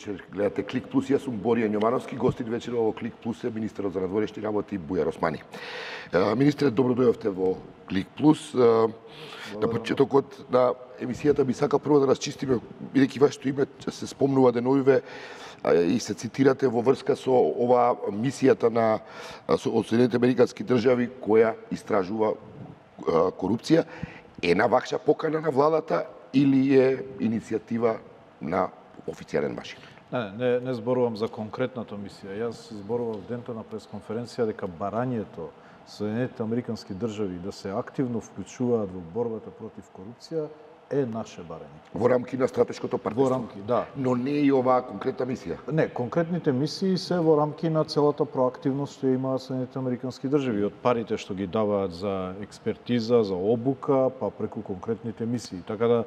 вечер гледате Клик Плюс. Јас сум Борија Њомановски, гостин вечер во Клик Плюс е министерот за надворешни работи Бујар Османи. Министре, добро дојдовте во Клик Плюс. На почетокот на емисијата би сакал прво да расчистиме, бидејќи вашето име се спомнува деновиве и се цитирате во врска со оваа мисијата на од Соединените Американски држави која истражува корупција. Е на вакша покана на владата или е иницијатива на официјален Вашингтон? Не зборувам за конкретната мисија. Јас зборував дента на пресконференција дека барањето Соединените Американски држави да се активно вклучуваат во борбата против корупција е наше барање. Во рамки на стратешкото партнерство? Во рамки, да. Но не и оваа конкретна мисија? Не, конкретните мисии се во рамки на целата проактивност што имаат Соединените Американски држави, од парите што ги даваат за експертиза, за обука, па преку конкретните мисии. Така да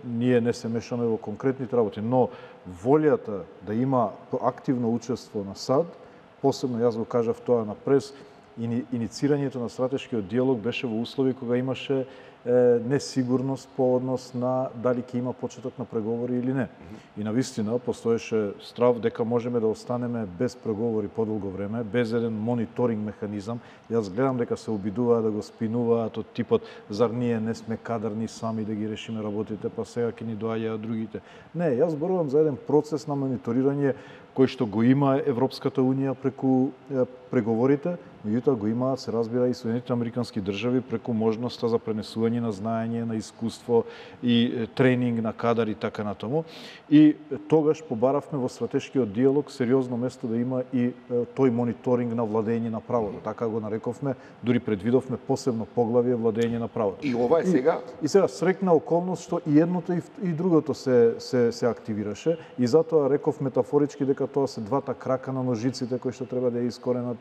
ние не се мешаме во конкретните работи, но волјата да има активно учество на САД, посебно јас го кажав тоа на прес, иницирањето на стратешкиот диалог беше во услови кога имаше несигурност по однос на дали ќе има почеток на преговори или не. И навистина постоеше страв дека можеме да останеме без преговори подолго време, без еден мониторинг механизам. Јас гледам дека се обидуваат да го спинуваат од типот зар ние не сме кадарни сами да ги решиме работите, па сега ќе ни доаѓаат другите. Не, јас зборувам за еден процес на мониторирање кој што го има Европската Унија преку преговорите, меѓутоа го имаат, се разбира, и Соединените Американски држави преку можноста за пренесување на знаење, на искуство и тренинг на кадар и така натаму. И тогаш побаравме во стратешкиот диалог сериозно место да има и тој мониторинг на владење на правото. Така го нарековме, дури предвидовме посебно поглавје владење на правото. И ова е сега? И сега срекна околност што и едното и другото се активираше и затоа реков метафорички дека тоа се двата крака на ножиците кои што треба да ја искоренат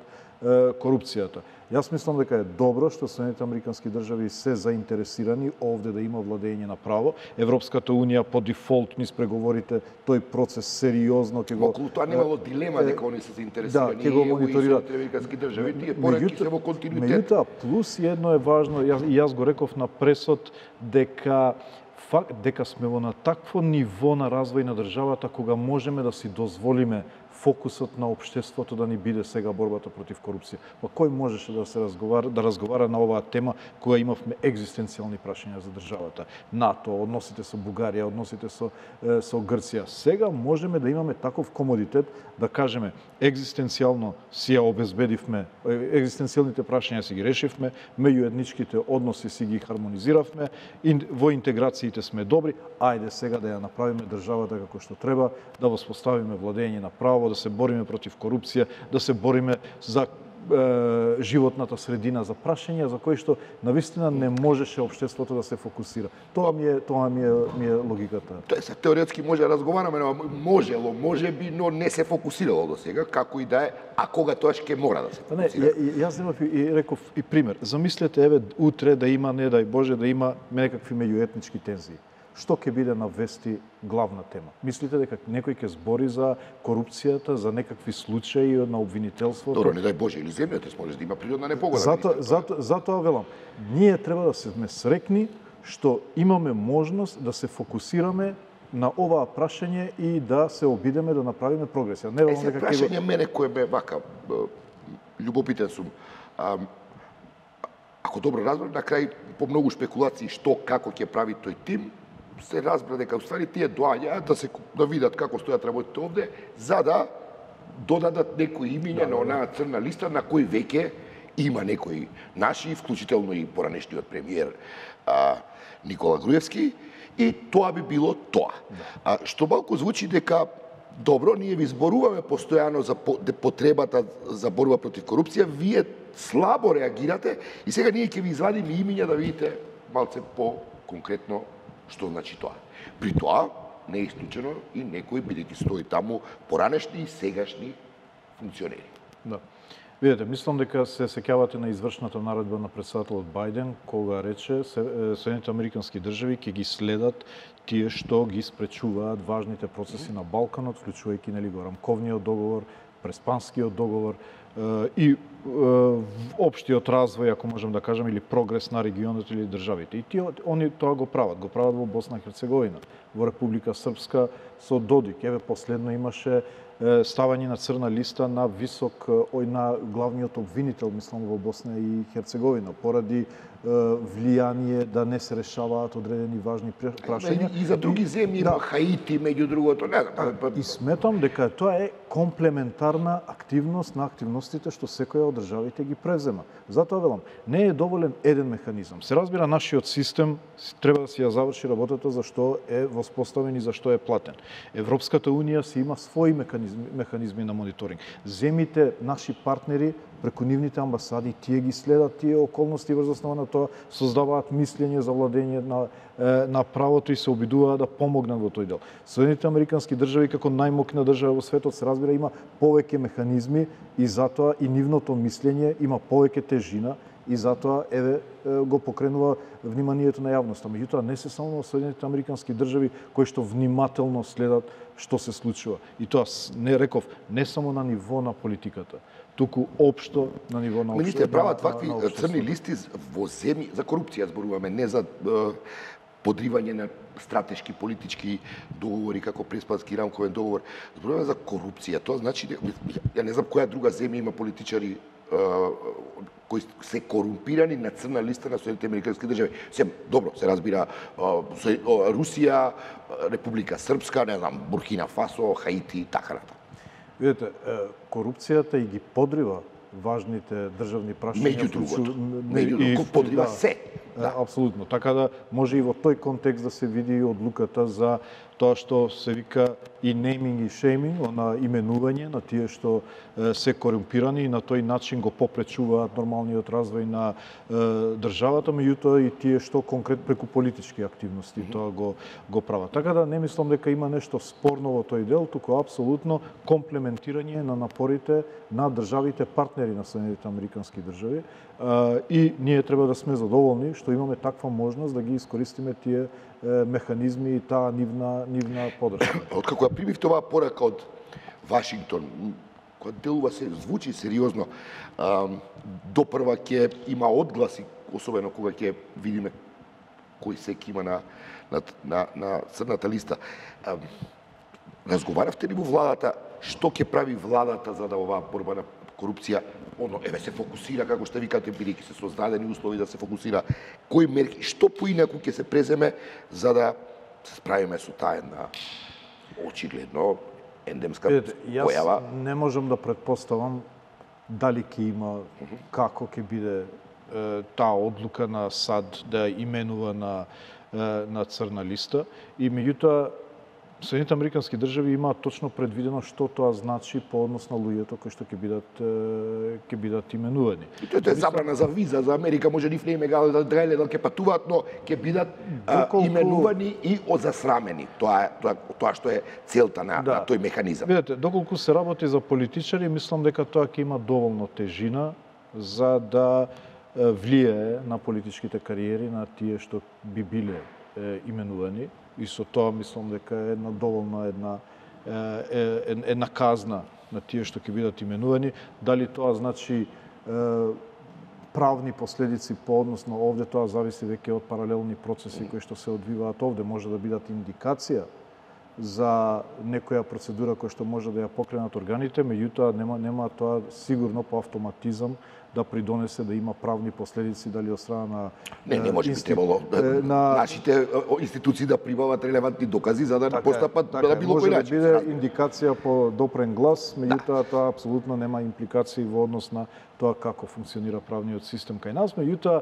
корупцијата. Јас мислам дека е добро што Соединените Американски држави се заинтересирани овде да има владење на право. Европската Унија по дефолт низ преговорите тој процес сериозно ќе го... Околу тоа немало дилема дека они се заинтересирани. Да, ќе го мониторираат. Соединените Американски држави, тие пораки се во континуитет. Меѓутоа, плюс едно е важно, и јас го реков на пресот дека сме во на такво ниво на развој на државата кога можеме да си дозволиме фокусот на општеството да ни биде сега борбата против корупција. Па кој можеше да разговара на оваа тема кога имавме екзистенцијални прашања за државата? НАТО, односите со Бугарија, односите со Грција. Сега можеме да имаме таков комодитет да кажеме екзистенцијално си ја обезбедивме, екзистенцијалните прашања си ги решивме, меѓуетничките односи си ги хармонизиравме, во интеграциите сме добри, ајде сега да ја направиме државата како што треба, да воспоставиме владење на право, да се бориме против корупција, да се бориме за животната средина, за прашања за кои што навистина не можеше општеството да се фокусира. Тоа ми е логиката. Тоа се теоретски може да разговараме, но можело, можеби, но не се фокусирало до сега, како и да е, а кога тоаш ќе мора да се фокусира. Јас земав и реков и пример. Замислете, еве, утре да има, не дај Боже, да има некакви меѓуетнички тензии. Што ќе биде на вести главна тема? Мислите дека некој ќе збори за корупцијата, за некакви случаи на обвинителството? Добро, не дај Боже, или земјата може да има природна непогода. Затоа велам, ние треба да сме срекни што имаме можност да се фокусираме на оваа прашање и да се обидеме да направиме прогресија. Не велам дека прашање мене кој бе вака љубопитен сум. Ако добро разбрам, на крај по многу спекулации што како ќе прави тој тим, се разбра дека уствари тие доаѓаат да видат како стојат работите овде, за да додадат некои имиња на онаа црна листа на кој веќе има некои наши, вклучително и поранешниот премиер Никола Груевски, и тоа би било тоа. Што малку звучи дека добро, ние ви зборуваме постојано за потребата за борба против корупција, вие слабо реагирате и сега ние ќе ви извадиме имиња да видите малце по-конкретно што значи тоа. При тоа не е исклучено и некои, бидејќи стои таму, поранешни и сегашни функционери. Да. Видете, мислам дека се сеќавате на извршната наредба на претседателот Бајден, кога рече Соединените Американски држави ќе ги следат тие што ги спречуваат важните процеси на Балканот, вклучувајќи го рамковниот договор, преспанскиот договор и општиот развој, ако можем да кажем, или прогрес на регионот или државите. И они тоа го прават во Босна и Херцеговина, во Република Српска со Додик. Еве последно имаше ставање на црна листа на на главниот обвинител, мислам, во Босна и Херцеговина, поради влијание да не се решаваат одредени важни прашања. И за други земји, има Хаити, меѓу другото, не знам. И сметам дека тоа е комплементарна активност на активностите што секоја од државите ги превзема. Затоа велам, не е доволен еден механизам. Се разбира, нашиот систем треба да си ја заврши работата за што е воспоставен и за што е платен. Европската унија си има своји механизми на мониторинг. Земите, наши партнери, преку нивните амбасади, тие ги следат тие околности, врз основа на тоа создаваат мислење за владење на правото и се обидуваат да помогнат во тој дел. Соединените американски држави како најмокна држава во светот, се разбира, има повеќе механизми и затоа и нивното мислење има повеќе тежина и затоа го покренува вниманието на јавноста. Меѓутоа не се само Соединените американски држави кои што внимателно следат што се случува. И тоа не само на ниво на политиката, туку општо на ниво на општо. Министер, прават вакви црни листи во земји за корупција, зборуваме, не за подривање на стратешки политички договори како Преспански рамковен договор. Зборуваме за корупција. Тоа значи, ја не знам која друга земја има политичари кои се корумпирани на црна листа на Соединените американски држави. Добро, се разбира, Русија, Република Српска, не знам, Буркина Фасо, Хаити и така натаму. Видете, корупцијата и ги подрива важните државни прашања. Меѓу другото, подрива се. Да. Апсолутно. Така да може и во тој контекст да се види одлуката за тоа што се вика и naming и shaming, на именување на тие што се корумпирани и на тој начин го попречуваат нормалниот развој на државата, меѓутоа и тие што конкретно преку политички активности тоа го прават. Така да не мислам дека има нешто спорно во тој дел, туку апсолутно комплементирање на напорите на државите партнери на Соединените американски држави и ние треба да сме задоволни што имаме таква можност да ги искористиме тие механизми и таа нивна подршка. Откако ја примивте оваа порака од Вашингтон, која делува се звучи сериозно, допрва ќе има одгласи, особено кога ќе видиме кој сек има на црната листа. Разговаравте ли во владата што ќе прави владата за да оваа борба на корупција, се фокусира, како што викате, бидејќи се создадени услови да се фокусира, кои мерки, што поинаку ќе се преземе за да се справиме со таа една очигледно ендемска појава? Јас не можам да претпоставам дали ќе има, како ќе биде таа одлука на САД да именува на црна листа и меѓутоа Соединените американски држави имаат точно предвидено што тоа значи по однос на луѓето кои што ќе бидат именувани. И тоа е забрана за виза за Америка, може нив не да ќе патуваат, но ќе бидат именувани и засрамени. Тоа што е целта на тој механизам. Видете, доколку се работи за политичари, мислам дека тоа ќе има доволно тежина за да влијае на политичките кариери на тие што би биле именувани. И со тоа мислам дека е доволна една казна на тие што ќе бидат именувани. Дали тоа значи правни последици по однос на овде, тоа зависи веќе од паралелни процеси кои што се одвиваат овде. Може да бидат индикација за некоја процедура која што може да ја покренат органите, меѓутоа нема тоа сигурно по автоматизам да придонесе да има правни последици дали од страна на Не може би требало нашите институции да прибават релевантни докази за да постапат на било кој начин. Може да биде индикација по допрен глас, меѓутоа тоа апсолутно нема импликации во однос на тоа како функционира правниот систем кај нас, меѓутоа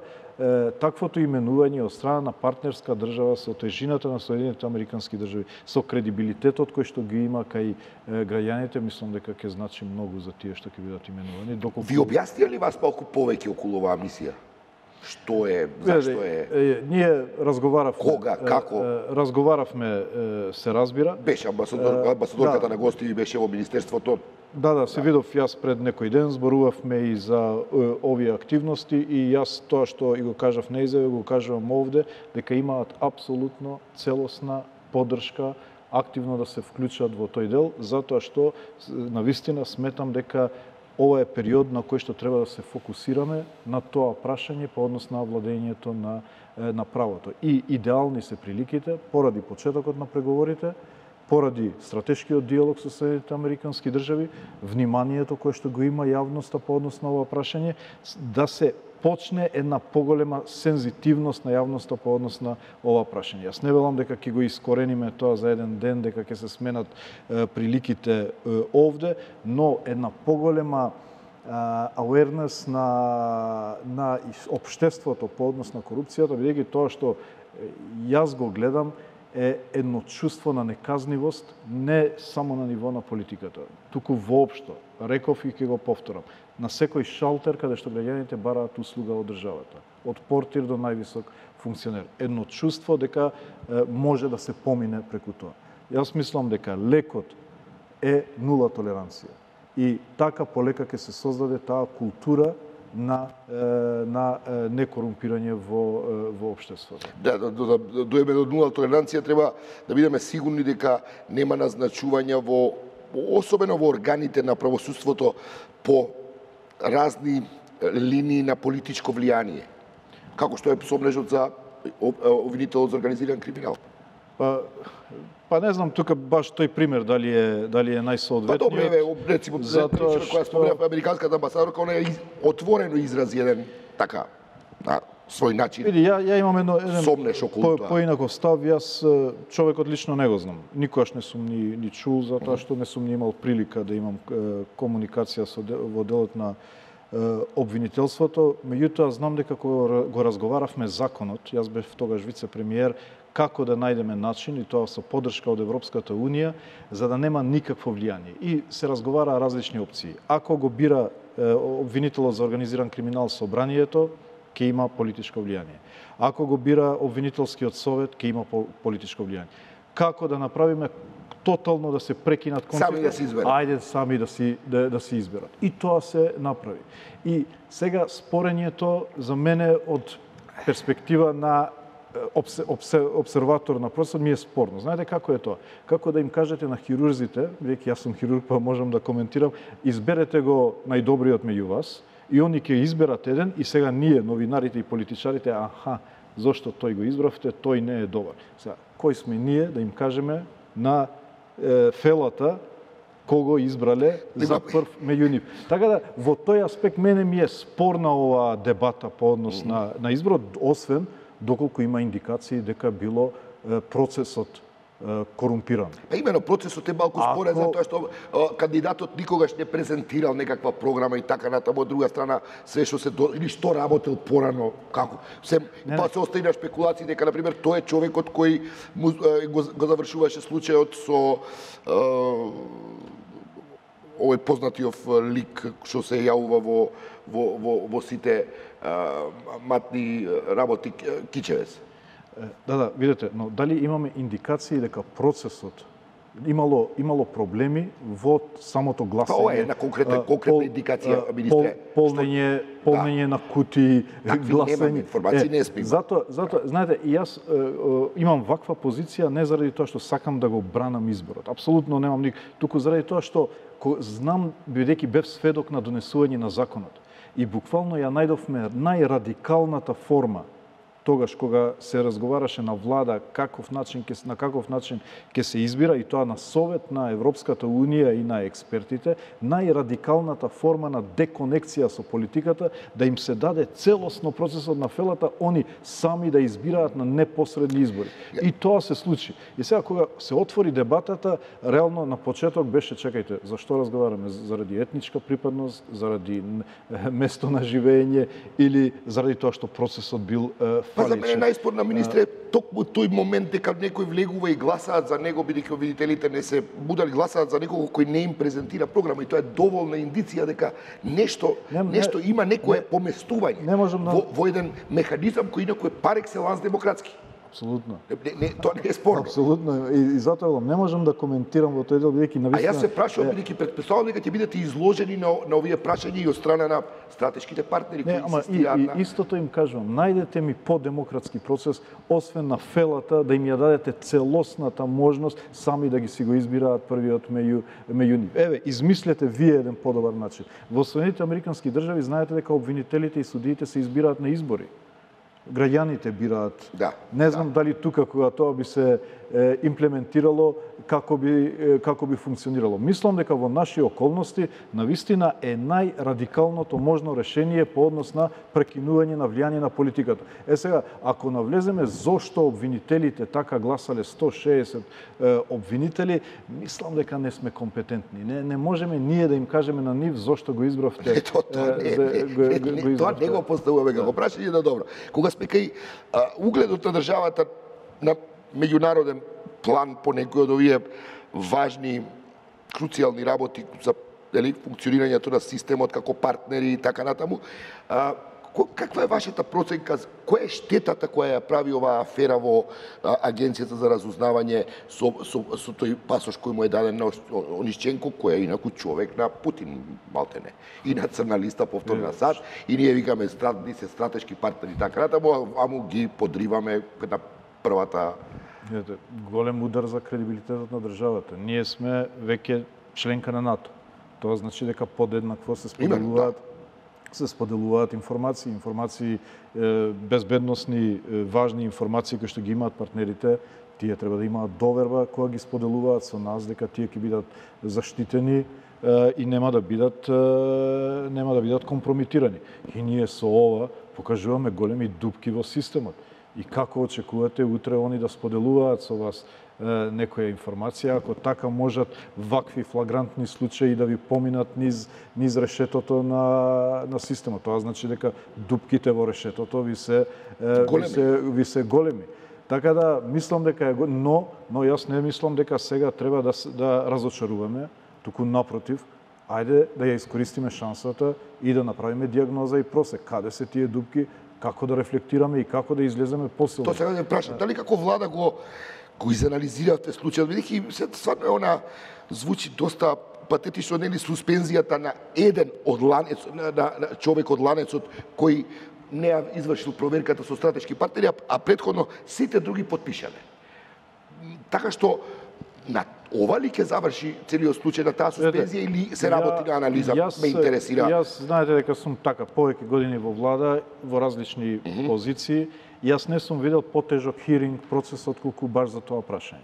таквото именување од страна на партнерска држава со тежината на Соединените американски држави, со кредибилитетот кој што ги има кај граѓаните, мислам дека ќе значи многу за тие што ќе бидат именувани. Ви објаснија ли вас малку повеќе околу оваа мисија? Што е, зашто е? Ние разговаравме. Кога, како? Разговаравме, се разбира. Беше амбасадорката на гости беше во министерството. Да, се видов јас пред некој ден, зборувавме и за овие активности и јас тоа што и го кажав на изјава, го кажувам овде, дека имаат апсолутно целосна поддршка активно да се вклучат во тој дел, затоа што навистина сметам дека ова е период на кој што треба да се фокусираме на тоа прашање по однос на владењето на правото. И идеални се приликите поради почетокот на преговорите, поради стратешкиот диалог со Соединетите Американски држави, вниманието кое што го има јавноста по однос на ова прашање, да се почне една поголема сензитивност на јавноста по однос на ова прашање. Јас не велам дека ќе го искорениме тоа за еден ден, дека ќе се сменат приликите овде, но една поголема awareness на општеството по однос на корупцијата, бидејќи тоа што јас го гледам е едно чувство на неказнивост, не само на ниво на политиката, туку воопшто. Реков и ќе го повторам. На секој шалтер каде што граѓаните бараат услуга од државата, од портир до највисок функционер. Едно чувство дека може да се помине преку тоа. Јас мислам дека лекот е нула толеранција. И така полека ќе се создаде таа култура на некорумпирање во општеството. Да доеме до нула толеранција, треба да бидеме сигурни дека нема назначувања особено во органите на правосудството по разни линии на политичко влијание. Како што е сомнежот за обвинителот за организиран криминал. Па не знам тука баш тој пример дали е најсоодветниот. Па добре, рецимо причина која спомнав американската амбасадорка, она е отворено изрази еден така на свој начин. Види, ја имам еден сомнеш околу тоа. Поинаков став, јас човекот лично не го знам. Никогаш не сум ни чул, затоа што не сум ни имал прилика да имам комуникација во делот на обвинителството. Меѓутоа знам дека кога го разговаравме законот, јас бев тогаш вице-премиер, како да најдеме начин, и тоа со поддршка од Европската Унија, за да нема никакво влијание. И се разговара различни опции. Ако го бира обвинителот за организиран криминал собранието, ќе има политичко влијание. Ако го бира обвинителскиот совет, ќе има политичко влијание. Како да направиме тотално да се прекинат конците? Сами да се изберат. Ајде сами да се изберат. И тоа се направи. И сега спорењето за мене од перспектива на обсерватор на процесот ми е спорно. Знаете како е тоа? Како да им кажете на хирурзите, бидејќи јас сум хирург, па можам да коментирам, изберете го најдобриот меѓу вас, и они ќе изберат еден, и сега ние, новинарите и политичарите, зошто тој го избравте, тој не е добар. Сега, кој сме ние да им кажеме на фелата кого избрале за прв меѓу нив. Така да, во тој аспект мене ми е спорна оваа дебата по однос на изборот, освен доколку има индикации дека било процесот корумпиран. Имено процесот е малку спорен затоа што кандидатот никогаш не презентирал некаква програма и така натаму. Од друга страна, се што или што работел порано, како. Па се остави на спекулации дека, например, тој е човекот кој го завршуваше случајот со овој познатиот лик што се јавува во сите матни работи Кичевец. Да, видете, но дали имаме индикации дека процесот имало проблеми во самото гласање? Ова е една конкретна индикација, министре. Полнење на кутии, гласање. Немаме информации, не сме. Затоа, знаете, и јас имам ваква позиција не заради тоа што сакам да го бранам изборот. Апсолутно немам туку заради тоа што знам, бидејќи бев сведок на донесување на законот. И буквално ја најдовме најрадикалната форма тогаш кога се разговараше на влада на каков начин ќе се избира, и тоа на совет на Европската Унија и на експертите, најрадикалната форма на деконекција со политиката, да им се даде целосно процесот на фелата, они сами да избираат на непосредни избори. И тоа се случи. И сега кога се отвори дебатата, реално на почеток беше, чекајте, зашто разговараме? Заради етничка припадност, заради место на живење или заради тоа што процесот бил Па за мене најспорна, министре, токму тој момент дека некој влегува и гласаат за него, бидејќи обвинителите не се будали, гласаат за некого кој не им презентира програма, и тоа е доволна индиција дека нешто има некое поместување во еден механизам кој инаку е пар екселанс демократски. Апсолутно. Тоа не е спорно. Апсолутно. И затоа велам, не можам да коментирам во тој дел, бидејќи А јас се прашувам, бидејќи претпоставувам дека ќе бидете изложени на овие прашања и од страна на стратешките партнери кои инсистираат на... Истото им кажувам, најдете ми по-демократски процес, освен на фелата, да им ја дадете целосната можност сами да ги си го избираат првиот меѓу нив. Еве, измислете вие еден подобар начин. Во Соединетите американски држави знаете дека обвинителите и судиите се избираат на избори. Граѓаните бираат. Да, не знам дали тука кога тоа би се имплементирало како би функционирало. Мислам дека во наши околности навистина е најрадикалното можно решение по однос на прекинување на влијание на политиката. Сега, ако навлеземе зошто обвинителите така гласале 160 обвинители, мислам дека не сме компетентни. Не можеме ние да им кажеме на нив зошто го избравте. Тоа не го поставуваме како прашање, да добро. Кога сме кај угледот на државата на меѓународен план по некои од овие важни, круцијални работи за функционирањето на системот како партнери и така натаму, каква е вашата проценка? Која е штетата која ја прави оваа афера во Агенцијата за разузнавање со тој пасош кој му е даден на Онишченко, кој е инаку човек на Путин, малтене, и на црна листа повторно на САД, и ние викаме се стратешки партнери и така натаму, а му ги подриваме на првата... Голем удар за кредибилитетот на државата. Ние сме веќе членка на НАТО. Тоа значи дека подеднакво се споделуваат информации, безбедносни, важни информации кои што ги имаат партнерите, тие треба да имаат доверба кога ги споделуваат со нас дека тие ќе бидат заштитени и нема да бидат компрометирани. И ние со ова покажуваме големи дупки во системот. И како очекувате утре они да споделуваат со вас некоја информација, ако така можат вакви флагрантни случаи да ви поминат низ решетото на системот. Тоа значи дека дупките во решетото ви се големи. Така да мислам дека но јас не мислам дека сега треба да разочаруваме, туку напротив, ајде да ја искористиме шансата и да направиме дијагноза и просек. Каде се тие дупки, како да рефлектираме и како да излеземе посилно. Тоа сега да прашам, дали како влада го изанализиравте случајот, бидејќи стварно она звучи доста патетично, нели, суспензијата на еден од на човек од ланецот кој не ја извршил проверката со стратешки партнери, а претходно сите други потпишале. Така што на ова ли ќе заврши целиот случај на таа суспензија или се работи на анализа? Ме интересира. Јас знаете дека сум така повеќе години во влада, во различни позиции. Јас не сум видел потежок хиринг процес отколку баш за тоа прашање,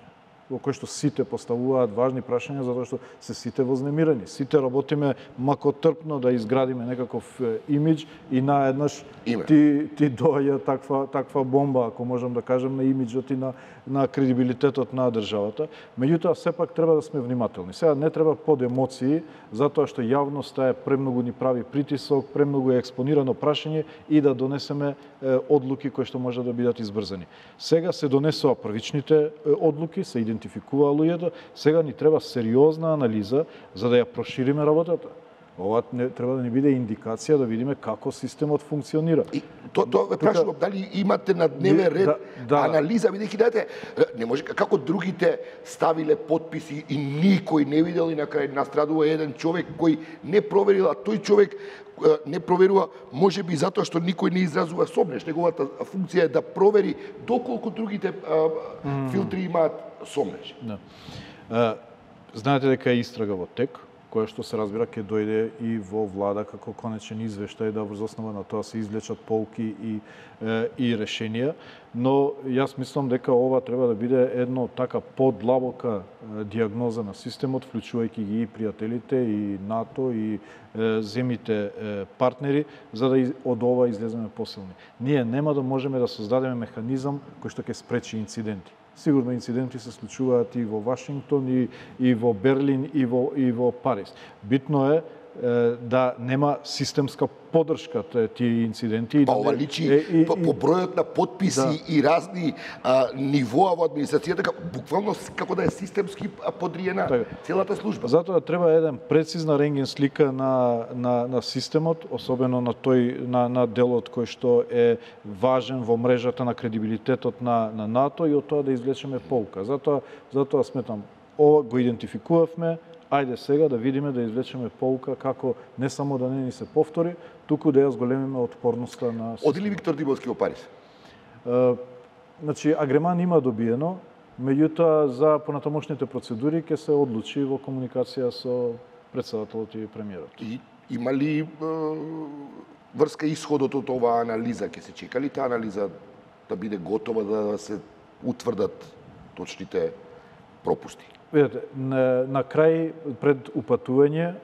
во кој што сите поставуваат важни прашања затоа што се сите вознемирани. Сите работиме макотрпно да изградиме некаков имидж и наеднаш ти доаѓа таква бомба, ако можам да кажам, на имиджот и на кредибилитетот на државата. Меѓутоа, сепак треба да сме внимателни. Сега не треба под емоции, затоа што јавноста е премногу ни прави притисок, премногу е експонирано прашање и да донесеме одлуки кои што може да бидат избрзани. Сега се донесува првичните одлуки, се идентификува луѓето, сега ни треба сериозна анализа за да ја прошириме работата. Ова треба да ни биде индикација да видиме како системот функционира. И тоа ве прашувам, дали имате на дневен ред анализа, бидејќи знаете, не може како другите ставиле подписи и никој не видел и на крај настрадува еден човек кој не проверил, а тој човек не проверува, можеби затоа што никој не изразува сомнеш. Неговата функција е да провери доколку другите филтри имаат сомнеш. Знаете дека е истрага во тек, која што се разбира ќе дојде и во влада како конечен извештај да врз основа на тоа се извлечат полки и решенија, но јас мислам дека ова треба да биде едно така подлабока дијагноза на системот, вклучувајќи ги и пријателите и НАТО и земите партнери, за да од ова излеземе посилни. Ние нема да можеме да создадеме механизам кој што ќе спречи инциденти. Сигурно инциденти се случуваат и во Вашингтон, и во Берлин, и во Париз. Битно е да нема системска подршка тие инциденти. Па ова личи по бројот на потписи и разни нивоа во администрацијата, буквално како да е системски подриена целата служба. Затоа треба еден прецизна рентген слика на системот, особено на на делот кој што е важен во мрежата на кредибилитетот на НАТО и од тоа да извлечеме полка. Затоа сметам, ова го идентификувавме. Ајде сега да видиме, да извлечеме полка како не само да не ни се повтори, туку да ја зголемиме отпорноста на системот. Оди ли Виктор Димовски во Париз? Значи, агреман има добиено, меѓутоа за понатамошните процедури ќе се одлучи во комуникација со претседателот и премиерот. И има ли врска исходот од оваа анализа? Ќе се чека ли таа анализа да биде готова да се утврдат точните пропусти? Видете, на крај пред упатување,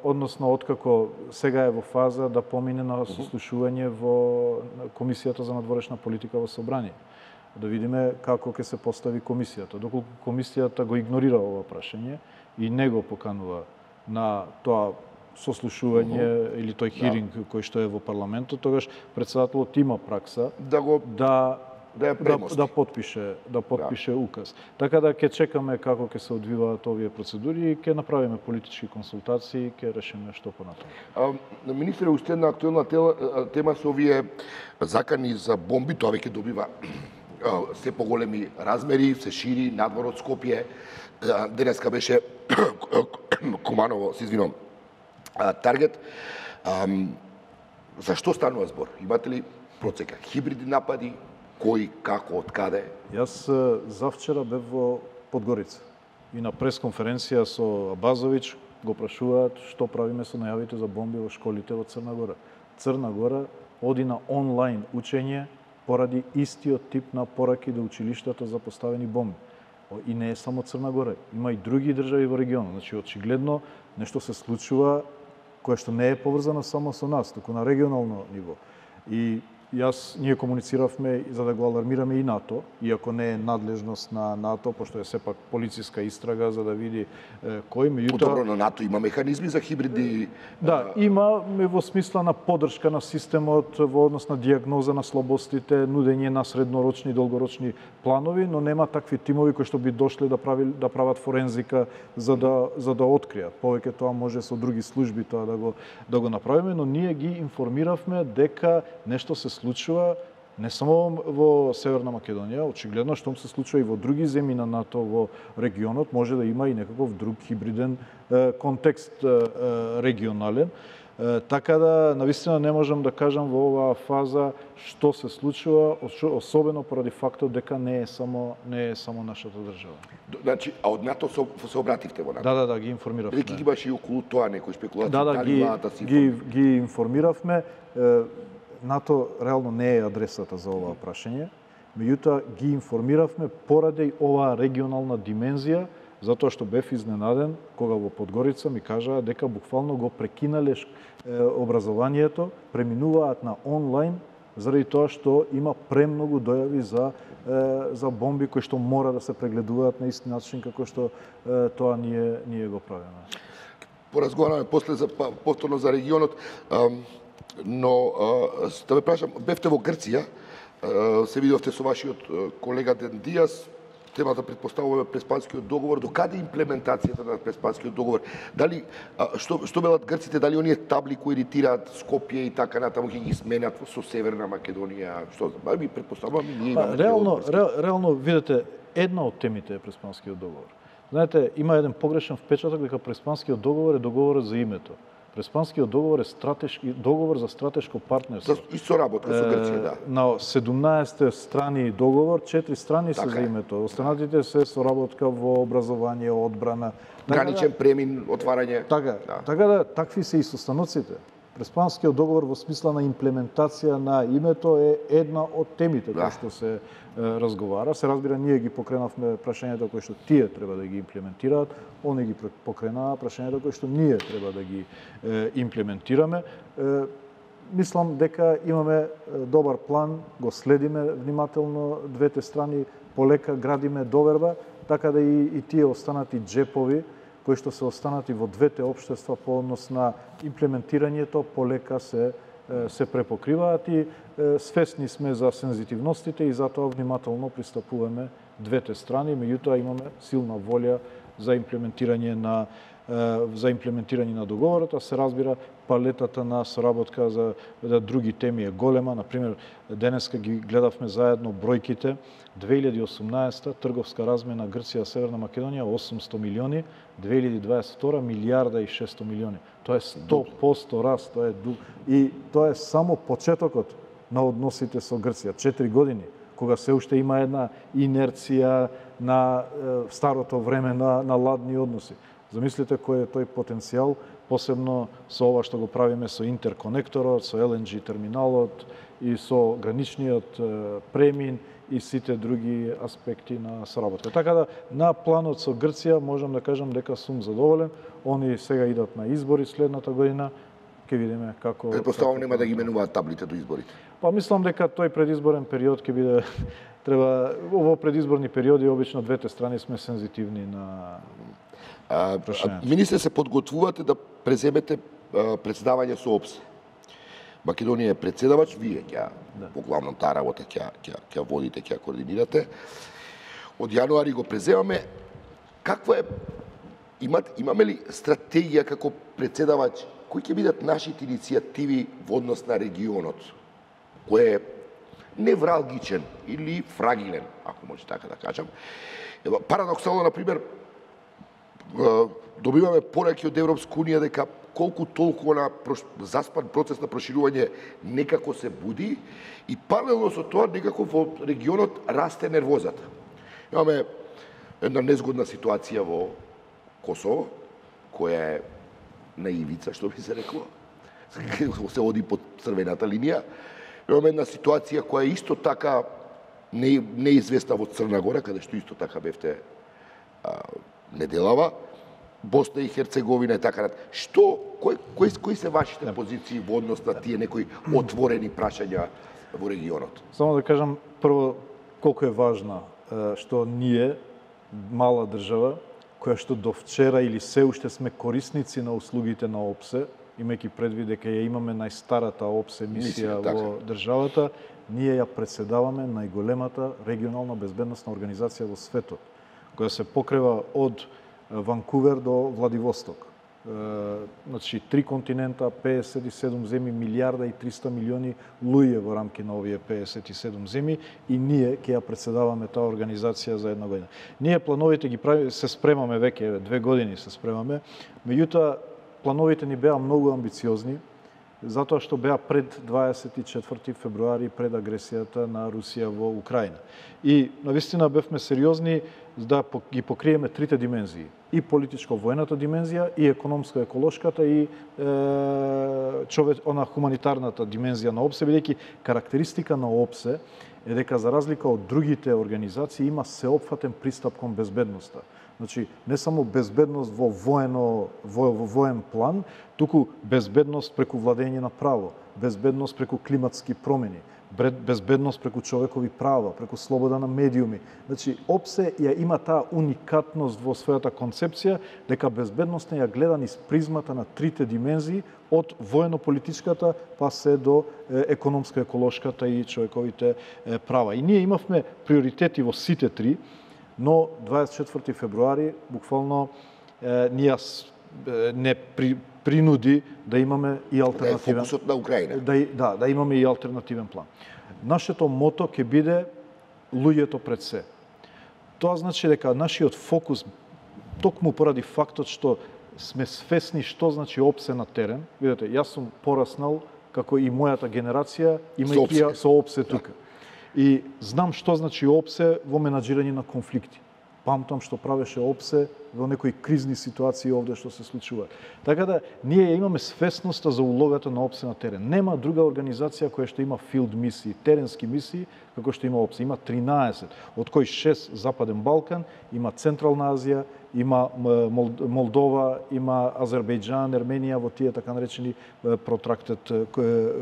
односно откако сега е во фаза да помине на сослушување во Комисијата за надворешна политика во Собрание. Да видиме како ќе се постави комисијата. Доколку комисијата го игнорира ова прашање и не го поканува на тоа сослушување или тој хиринг кој што е во парламентот, тогаш претседателот има пракса да потпише указ. Така да ќе чекаме како ќе се одвиваат овие процедури и ќе направиме политички консултации и ќе решиме што понатаму. Министре, уште една актуелна тема со овие закани за бомби, тоа веќе добива се поголеми размери, се шири надвор од Скопје. Денеска беше Куманово, се извинувам, таргет. За што станува збор? Имате ли процека? Хибридни напади? Кој, како, од каде? Јас завчера бев во Подгорица и на пресконференција со Абазович го прашуваат што правиме со најавите за бомби во школите во Црна Гора. Црна Гора оди на онлайн учење поради истиот тип на пораки до училиштата за поставени бомби. И не е само Црна Гора, има и други држави во регионот. Значи, очигледно, нешто се случува кое што не е поврзано само со нас, туку на регионално ниво. И ние комунициравме за да го алармираме и НАТО, иако не е надлежност на НАТО, пошто е сепак полициска истрага за да види кој. Добро, на НАТО има механизми за хибридни... Да, има во смисла на подршка на системот во однос на дијагноза на слабостите, нудење на среднорочни и долгорочни планови, но нема такви тимови кои што би дошле да прават форензика за да откријат. Повеќе тоа може со други служби тоа да го направиме, но ние ги информиравме дека нешто се случува не само во Северна Македонија, очигледно што се случува и во други земји на НАТО во регионот, може да има и некаков друг хибриден контекст регионален. Така да, навистина не можам да кажам во оваа фаза што се случува, особено поради фактот дека не е само нашата држава. Значи, а од НАТО се обративте во НАТО? Да, ги информиравме. Дали ги имаше и околу тоа некои спекулации? Да, ги информиравме. НАТО реално не е адресата за оваа прашање, меѓутоа ги информиравме поради оваа регионална димензија, затоа што бев изненаден кога во Подгорица ми кажаа дека буквално го прекинале образованието, преминуваат на онлайн заради тоа што има премногу дојави за бомби кои што мора да се прегледуваат на ист начин како што тоа ние го правиме. Поразговараме после повторно за регионот. Но, да ве прашам, бевте во Грција, се видовте со вашиот колега Ден Диас, темата предпоставуваме Преспанскиот договор, до каде имплементацијата на Преспанскиот договор? Дали, што велат грците, дали оние табли кои иритираат Скопје и така натаму ќе ги сменат со Северна Македонија? Што, би предпоставуваме ние имаме... Реално, видите, една од темите е Преспанскиот договор. Знаете, има еден погрешен впечаток дека Преспанскиот договор е договорот за името. Преспанскиот договор е договор за стратешко партнерство. И соработка со Грција, да. На 17 страни договор, 4 страни се за името. Останатите се соработка во образование, одбрана. Граничен премин, отварање. Така да, такви се и состаноците. Преспанскиот договор во смисла на имплементација на името е една од темите кои што се разговара. Се разбира, ние ги покренавме прашањата кои што тие треба да ги имплементираат, они ги покренаа прашањата кои што ние треба да ги имплементираме. Мислам дека имаме добар план, го следиме внимателно двете страни, полека градиме доверба, така да и тие останати джепови кои што се останати во двете општества по однос на имплементирањето, полека се препокриваат и свесни сме за сензитивностите и затоа внимателно пристапуваме двете страни, меѓутоа имаме силна волја за имплементирање на договорот, а се разбира палетата на соработка за други теми е голема. Например, денеска ги гледавме заедно бројките. 2018 трговска размена Грција-Северна Македонија 800 милиони, 2022 милијарда и 600 милиони. Тоа е 100% раст, и тоа е само почетокот на односите со Грција. 4 години, кога се уште има една инерција на старото време на ладни односи. Замислите кој е тој потенцијал, посебно со ова што го правиме со интерконекторот, со LNG терминалот и со граничниот премин и сите други аспекти на соработка. Така да, на планот со Грција можам да кажам дека сум задоволен. Они сега идат на избори следната година. Ќе видиме како... Предпоставам нема да ги менуваат таблите до изборите. Па мислам дека тој предизборен период ќе биде во предизборни периоди обично двете страни сме сензитивни на Министре, се подготвувате да преземете председавање со ОПСЕ. Македонија е председавач, вие ќе поглавно таа работа ќе водите, ќе координирате. Од јануари го преземаме. Каква е имаме ли стратегија како председавач? Кои ќе бидат нашите иницијативи во однос на регионот? Кој е невралгичен или фрагилен, ако може така да кажам. Парадоксално, например, добиваме пораки од Европска унија дека колку толку на заспан процес на проширување некако се буди и паралелно со тоа некако во регионот расте нервозата. Имаме една незгодна ситуација во Косово, која е на ивица, што би се рекло, се оди под црвената линија. Имаме една ситуација која е исто така неизвестна во Црна Гора, каде што исто така бевте неделава, Босна и Херцеговина и така натаму. Кои се вашите позиции во однос на тие некои отворени прашања во регионот? Само да кажам прво колку е важна што ние, мала држава, која што до вчера или се уште сме корисници на услугите на ОПСЕ, имајќи предвид дека ја имаме најстарата ОПСЕ мисија во државата, ние ја председаваме најголемата регионална безбедносна организација во светот, која се покрива од Ванкувер до Владивосток. Значи, 3 континента, 57 земји, милијарда и 300 милиони луѓе во рамки на овие 57 земји и ние ќе ја председаваме таа организација за една година. Ние плановите ги правиме, се спремаме веќе 2 години се спремаме, меѓутоа плановите ни беа многу амбициозни, затоа што беа пред 24 февруари, пред агресијата на Русија во Украина. И навистина бевме сериозни да ги покриеме трите димензии. И политичко-воената димензија, и економско-еколошката, и она хуманитарната димензија на ОПСЕ, бидејќи карактеристика на ОПСЕ е дека за разлика од другите организации има сеопфатен пристап кон безбедноста. Значи, не само безбедност во воен план, туку безбедност преку владење на право, безбедност преку климатски промени, безбедност преку човекови права, преку слобода на медиуми. Значи, ОПСЕ ја има таа уникатност во својата концепција, дека безбедноста ја гледа низ призмата на трите димензии, од воено-политичката па се до економско-еколошката и човековите права. И ние имавме приоритети во сите три, но 24 февруари буквално не принуди да имаме и алтернативен... Фокусот на Украина. Да имаме и алтернативен план. Нашето мото ќе биде луѓето пред се. Тоа значи дека нашиот фокус, токму поради фактот што сме свесни што значи ОПСЕ на терен, видите, јас сум пораснал како и мојата генерација, имајќи ја со ОПСЕ тука. И знам што значи ОПСЕ во менаџирање на конфликти. Памтам што правеше ОПСЕ во некои кризни ситуации овде што се случува. Така да, ние имаме свесноста за улогата на ОПСЕ на терен. Нема друга организација која што има филд мисии, теренски мисии, како што има ОПСЕ. Има 13, од кои 6 Западен Балкан, има Централна Азија, има Молдова, има Азербејџан, Ерменија во тие така наречени протрактет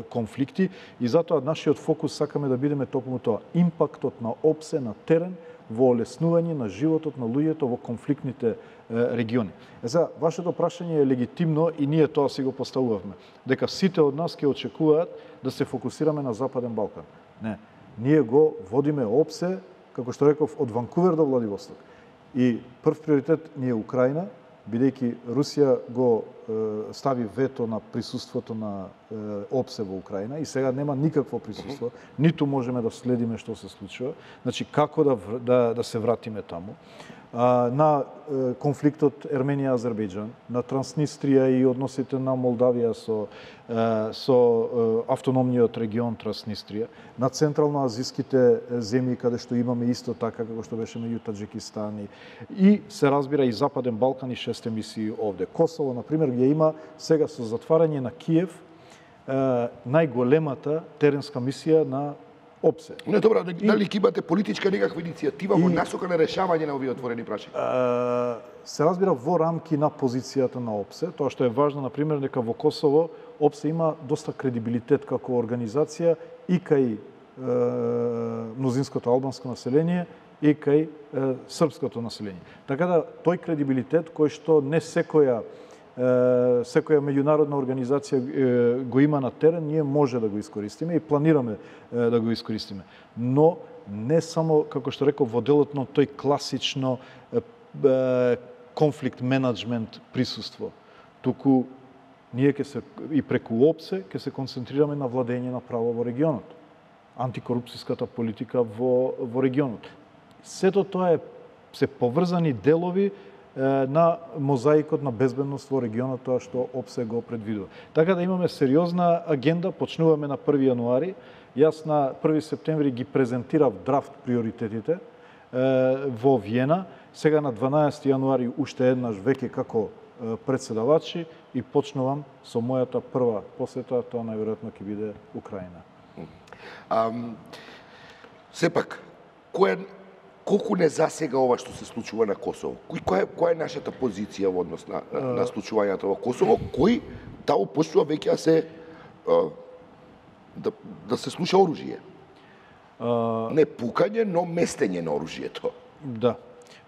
конфликти. И затоа нашиот фокус сакаме да бидеме токму тоа. Импактот на ОПСЕ на терен во олеснување на животот на луѓето во конфликтните региони. За вашето прашање е легитимно и ние тоа си го поставувавме, дека сите од нас ќе очекуваат да се фокусираме на Западен Балкан. Не, ние го водиме ОПСЕ, како што реков, од Ванкувер до Владивосток. И прв приоритет ни е Украина, бидејќи Русија го стави вето на присуството на ОПСЕ во Украина и сега нема никакво присуство, ниту можеме да следиме што се случува, значи како да се вратиме таму. На конфликтот Ерменија-Азербејџан, на Транснистрија и односите на Молдавија со автономниот регион Транснистрија, на централноазиските земји каде што имаме исто така како што беше меѓу Таџикистан и се разбира и Западен Балкан и 6 мисии овде. Косово, на пример, ја има сега со затварање на Киев најголемата теренска мисија на ОПСЕ. Не, добра, дали ќе имате политичка некаква иницијатива во насока на решавање на овие отворени прашања? Се разбира во рамки на позицијата на ОПСЕ, тоа што е важно, на пример, дека во Косово ОПСЕ има доста кредибилитет како организација и кај мнозинското албанско население и кај српското население. Така да тој кредибилитет кој што не секоја меѓународна организација го има на терен, ние може да го искористиме и планираме да го искористиме. Но не само, како што реков, во делот на тој класично конфликт менеджмент присуство, туку ние ќе се и преку ОПСЕ ќе се концентрираме на владење на право во регионот, антикорупцијската политика во регионот. Сето тоа се поврзани делови на мозаикот на безбедност во регионот, тоа што ОПСЕ го предвидува. Така да имаме сериозна агенда, почнуваме на 1 јануари. Јас на 1 септември ги презентирав драфт приоритетите во Виена. Сега на 12 јануари уште еднаш веќе како председавачи и почнувам со мојата прва посета, тоа најверојатно ќе биде Украина. Сепак, колку не засега ова што се случува на Косово? Која е нашата позиција во однос на случувањето во Косово? Кој таму почнува веќе да се слуша оружје? Не пукање, но местење на оружјето. Да.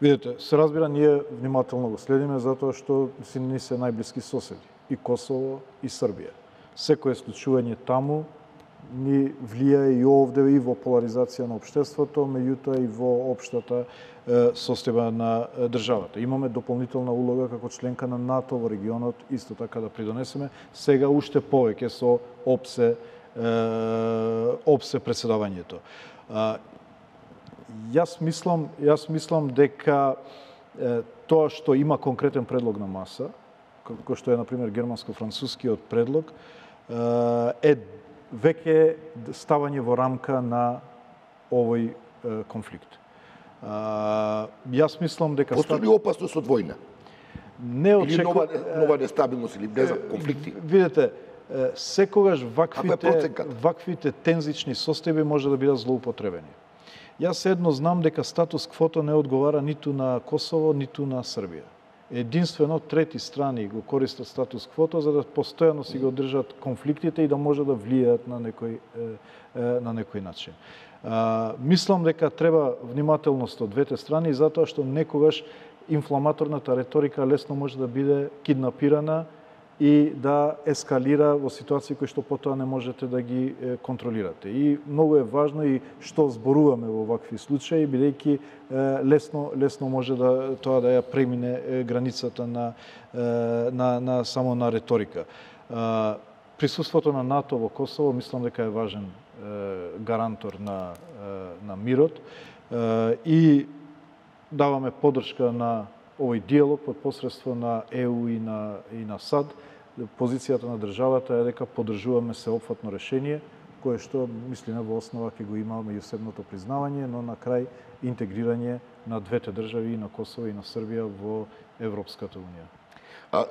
Видете, се разбира, ние внимателно го следиме затоа што ни се најблиски соседи. И Косово, и Србија. Секое случување таму ни влијае и овде и во поларизација на општеството, меѓутоа и во општата состојба на државата. Имаме дополнителна улога како членка на НАТО во регионот, исто така да придонесеме, сега уште повеќе со ОПСЕ председавањето. Јас мислам дека тоа што има конкретен предлог на маса, како што е, например, германско-францускиот предлог, е веќе ставање во рамка на овој конфликт. Јас мислам дека... Постои ли опасност од војна? Или нова нестабилност или не за конфликти? Видете, секогаш ваквите тензични состојби може да бидат злоупотребени. Јас едно знам дека статус квото не одговара ниту на Косово, ниту на Србија. Единствено трети страни го користат статус квото за да постојано си го држат конфликтите и да може да влијаат на некој начин. Мислам дека треба внимателност од двете страни затоа што некогаш инфламаторната реторика лесно може да биде киднапирана и да ескалира во ситуации кои што потоа не можете да ги контролирате. И многу е важно и што зборуваме во вакви случаи, бидејќи лесно може тоа да ја премине границата само на реторика. Присуството на НАТО во Косово мислам дека е важен гарантор на мирот и даваме поддршка на овој диалог под посредство на ЕУ и на САД. Позицијата на државата е дека поддржуваме сеопфатно решение, кое што, мислиме, во основа ќе го има меѓусебното признавање, но на крај интегрирање на двете држави, и на Косово и на Србија, во Европската унија.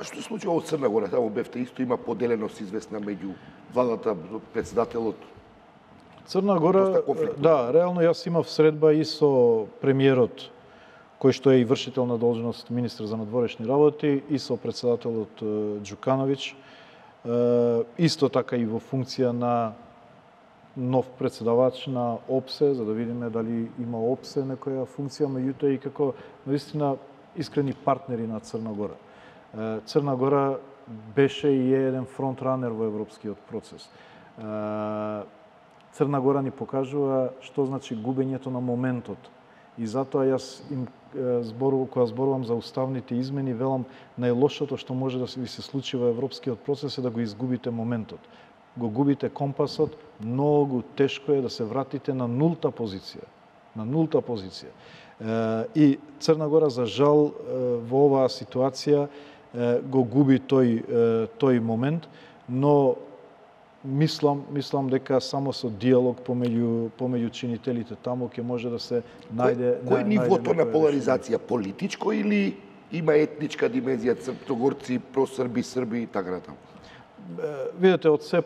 Што се случува во Црна Гора? Таму бевте исто, има поделеност известна меѓу владата, председателот. Црна Гора, да, реално јас имав средба и со премиерот, кој што е и вршител на должност министар за надворешни работи, и со председателот Џукановиќ, исто така и во функција на нов председавач на ОПСЕ, за да видиме дали има ОПСЕ некоја функција, меѓутоа и како наистина искрени партнери на Црна Гора. Црна Гора беше и е еден фронтранер во европскиот процес. Црна Гора ни покажува што значи губењето на моментот. И затоа јас им кога зборувам за уставните измени, велам најлошото што може да ви се случи во европскиот процес е да го изгубите моментот. Го губите компасот, многу тешко е да се вратите на нулта позиција. На нулта позиција. И Црна Гора, за жал, во оваа ситуација го губи тој момент, но мислам дека само со диалог помеѓу чинителите таму ќе може да се најде Кој нивото на поларизација, политичко или има етничка димензија, црногорци, просрби, срби и така натаму? Видете, од се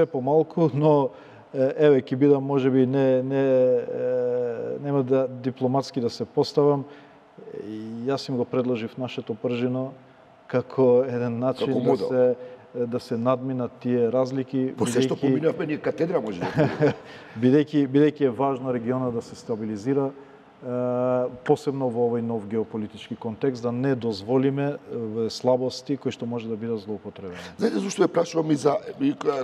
помалку, но еве ќе бидам можеби нема да дипломатски да се поставам. Јас им го предложив нашето пржино како еден начин да се надминат тие разлики. По се што поминавме ние катедра може да. Бидејќи е важно регионот да се стабилизира, посебно во овој нов геополитички контекст, да не дозволиме слабости кои што може да бидат злоупотребени. Знаете зашто ве прашувам и за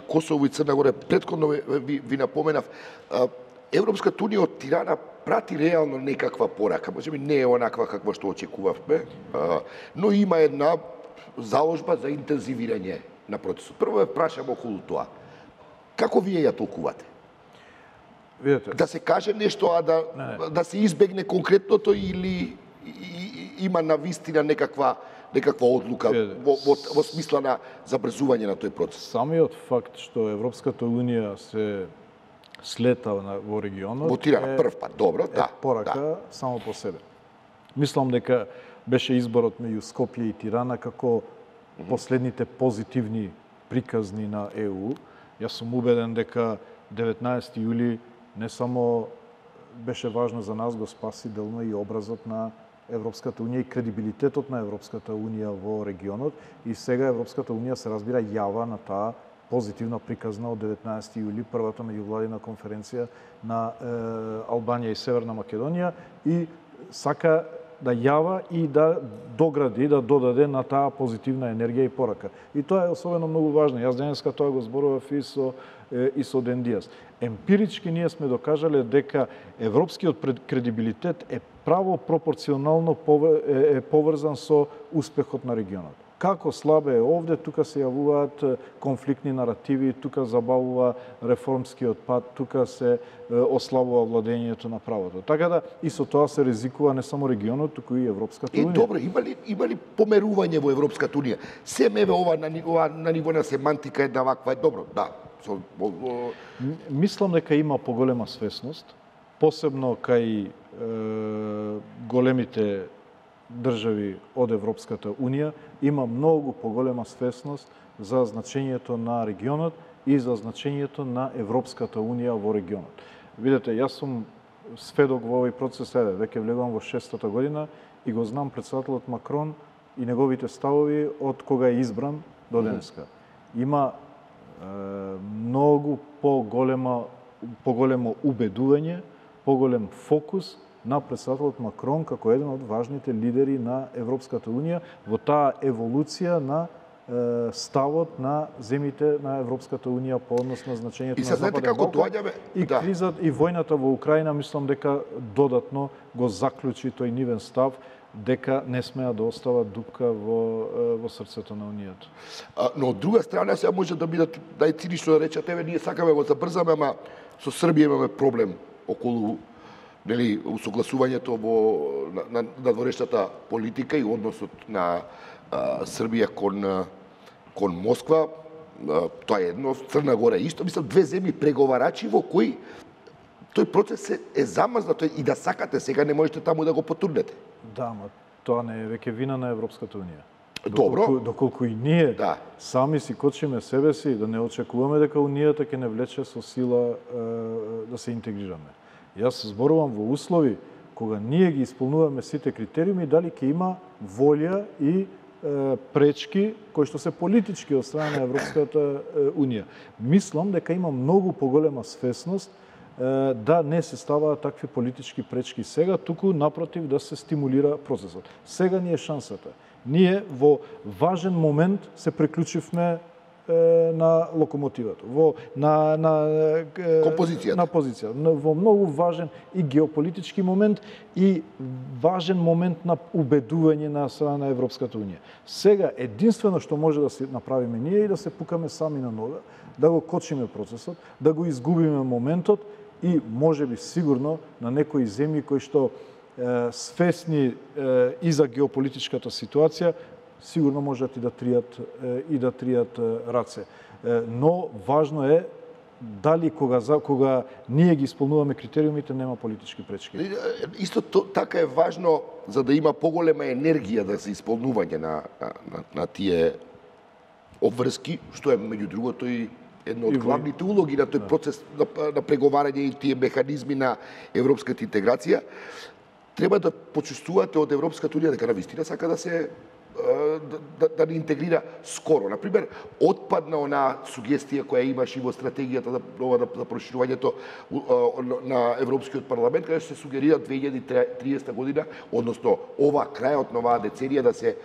Косово и Црна Гора? Претходно ви напоменав, Европската унија од Тирана прати реално некаква порака, можеби не е онаква каква што очекувавме, но има една заложба за интензивирање на процесот. Прво ве прашам околу тоа. Како вие ја толкувате? Видете, Да се каже нешто, а да се избегне конкретното или има навистина некаква одлука во смисла на забрзување на тој процес? Самиот факт што Европската унија се слета во регионот во Тирана прв пат, добро, да. Порака само по себе. Мислам дека беше изборот меѓу Скопје и Тирана како последните позитивни приказни на ЕУ. Јас сум убеден дека 19 јули не само беше важно за нас, го спаси делно и образот на Европската унија и кредибилитетот на Европската унија во регионот. И сега Европската унија се разбира јава на таа позитивна приказна од 19 јули, првата меѓувладина конференција на Албанија и Северна Македонија, и сака да јава и да догради, да додаде на таа позитивна енергија и порака. И тоа е особено многу важно. Јас денеска тоа го зборував и со Ден Диас. Емпирички ние сме докажале дека европскиот кредибилитет е право пропорционално поврзан со успехот на регионот. Како слабе е овде, тука се јавуваат конфликтни наративи, тука забавува реформскиот пат, тука се ослабува владењето на правото. Така да и со тоа се ризикува не само регионот, туку и Европската унија. Добро, има ли померување во Европската унија? Семеве ова на ниво на семантика една ваква е добро, да. Мислам дека има поголема свесност, посебно кај големите држави од Европската унија, има многу поголема свесност за значењето на регионот и за значењето на Европската унија во регионот. Видете, јас сум сведок во овој процес, веќе влегувам во 6-та година и го знам председателот Макрон и неговите ставови од кога е избран до денеска. Има многу поголемо убедување, поголем фокус на председателот Макрон како еден од важните лидери на Европската унија во таа еволуција на ставот на земите на Европската унија по однос на значењето на Западен Балкан. И кризата и војната во Украина, мислам дека додатно го заклучи тој нивен став дека не смеа да остава дупка во срцето на унијата. Но од друга страна сега може да бидат најцинично да речат, еве ние сакаме го забрзаме, ама со Србија имаме проблем околу усогласувањето на надворешната политика и односот на Србија кон Москва. Тоа е едно, Црна Гора исто, мислам, две земји преговарачи во кои тој процес е замрзнат и да сакате сега не можете таму да го потурнете. Да, ама тоа не е веќе вина на Европската унија. Добро. Доколку и ние сами си кочиме себе си, да не очекуваме дека унијата ќе не влече со сила да се интегрираме. Јас зборувам во услови кога ние ги исполнуваме сите критериуми, дали ќе има волја и пречки кои што се политички од страна на Европската унија. Мислам дека има многу поголема свесност да не се ставаат такви политички пречки сега, туку напротив да се стимулира процесот. Сега ни е шансата. Ние во важен момент се приклучивме на локомотивата, на позицијата, во многу важен и геополитички момент и важен момент на убедување на страна на Европската унија. Сега единствено што може да се направиме ние е да се пукаме сами на нога, да го кочиме процесот, да го изгубиме моментот и можеби сигурно на некои земји кои што свесни и за геополитичката ситуација сигурно можат и да тријат раце. Но важно е дали кога ние ги исполнуваме критериумите нема политички пречки. Исто така е важно за да има поголема енергија да се исполнување на тие обврски, што е меѓу другото и една од главните улоги на тој процес на преговарање и тие механизми на европската интеграција. Треба да почувствувате од Европската унија дека навистина сака да се да ни интегрира скоро. Например, отпадна она сугестија која имаше и во стратегијата за проширувањето на Европскиот парламент, каде се сугерира 2030 година, односно крајот на оваа деценија да се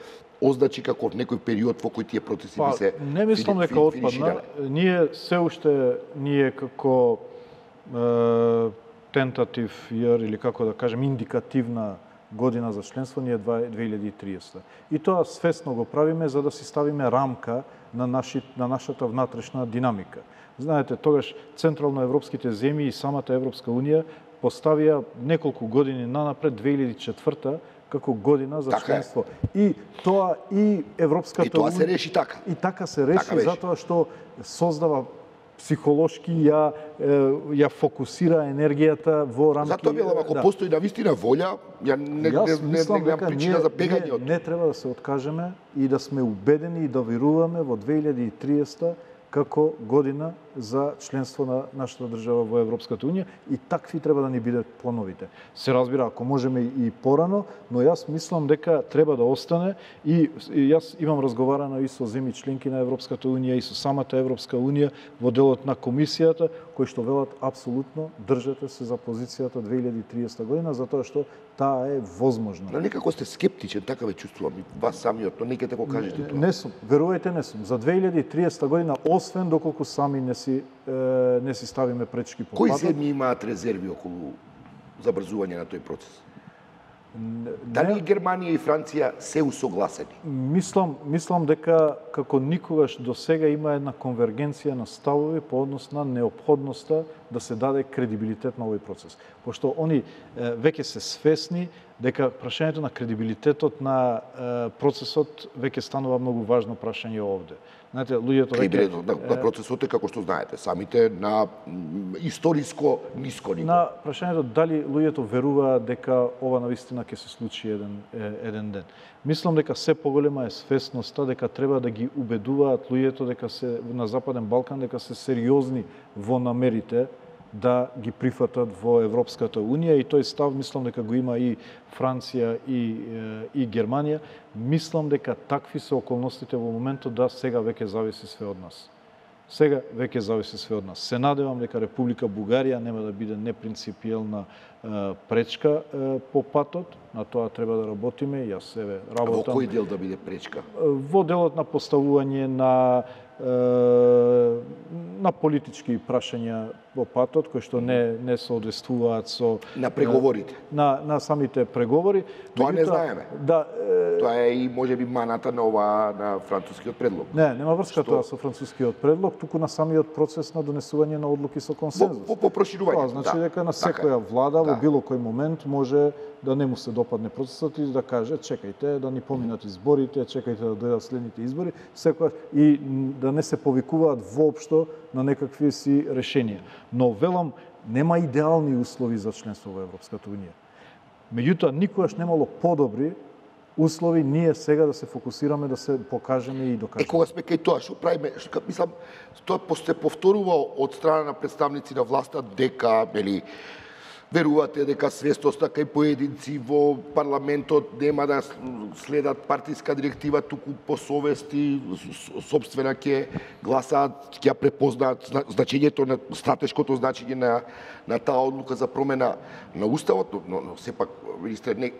означи како некој период во кој тие процеси би се не мислам дека отпадна. Ние се уште како тентатив јер или како да кажем индикативна година за членство ни е 2030. И тоа свесно го правиме за да си ставиме рамка на нашата внатрешна динамика. Знаете, тогаш централноевропските земји и самата Европска унија поставија неколку години нанапред 2004 како година за членство. И тоа и Европската унија... И тоа се реши така. И така се реши затоа што создава психолошки ја фокусира енергијата во рамки. Затоа велам, ако постои навистина волја, не гледам причина за бегање од. Не треба да се откажеме и да сме убедени и да веруваме во 2030 како година за членство на нашата држава во Европската унија и такви треба да ни бидат плановите. Се разбира, ако можеме и порано, но јас мислам дека треба да остане и јас имам разговарано и со земји членки на Европската унија и со самата Европска унија во делот на комисијата, кои што велат апсолутно држете се за позицијата 2030 година, затоа што таа е возможна. Но некако сте скептичен, така ве чувствувам и вас самиот, но нека го кажете тоа. Не сум, верувајте не сум. За 2030 година, освен доколку сами не си ставиме пречки по Кои патот. земји имаат резерви околу забрзување на тој процес? Дали Германија и Франција се усогласени? Мислам дека како никогаш до сега има една конвергенција на ставови по однос на неопходноста да се даде кредибилитет на овој процес. Пошто они веќе се свесни дека прашањето на кредибилитетот на процесот веќе станува многу важно прашање овде. Знаете, луѓето кредибилитетот на процесот е како што знаете, самите на историско ниско ниво. На прашањето дали луѓето веруваат дека ова навистина ќе се случи еден ден. Мислам дека се поголема е свесноста дека треба да ги убедуваат луѓето дека се на Западен Балкан дека се сериозни во намерите да ги прифатат во Европската унија и тој став мислам дека го има и Франција и Германија. Мислам дека такви се околностите во моментот да сега веќе зависи све од нас. Сега веќе зависи све од нас. Се надевам дека Република Бугарија нема да биде непринципиелна пречка по патот, на тоа треба да работиме, јас себе работам. Во кој дел да биде пречка? Во делот на поставување на политички прашања во патот, кои што не соодветствуваат со на преговорите. На самите преговори. Тоа не знаеме. Да, тоа е и можеби маната на францускиот предлог. Нема врска тоа со францускиот предлог, туку на самиот процес на донесување на одлуки со консензус. По проширување. Тоа значи дека на секоја влада во било кој момент може да не му се допадне процесот и да каже чекајте да ни поминат изборите, чекајте да дојдат следните избори, секоја и да не се повикуваат воопшто на некакви си решенија. Но велам, нема идеални услови за членство во Европската унија. Меѓутоа, никогаш немало подобри услови ние сега да се фокусираме, да се покажеме и докажеме. Кога сме кај тоа, што правиме, мислам, тоа се повторува од страна на представници на власта дека, Верувате дека свестоста кај поединци во парламентот нема да следат партиска директива, туку по совест и собствена ќе гласаат, ќе ја препознаат значењето на стратешкото значење на таа одлука за промена на уставот, но сепак министре не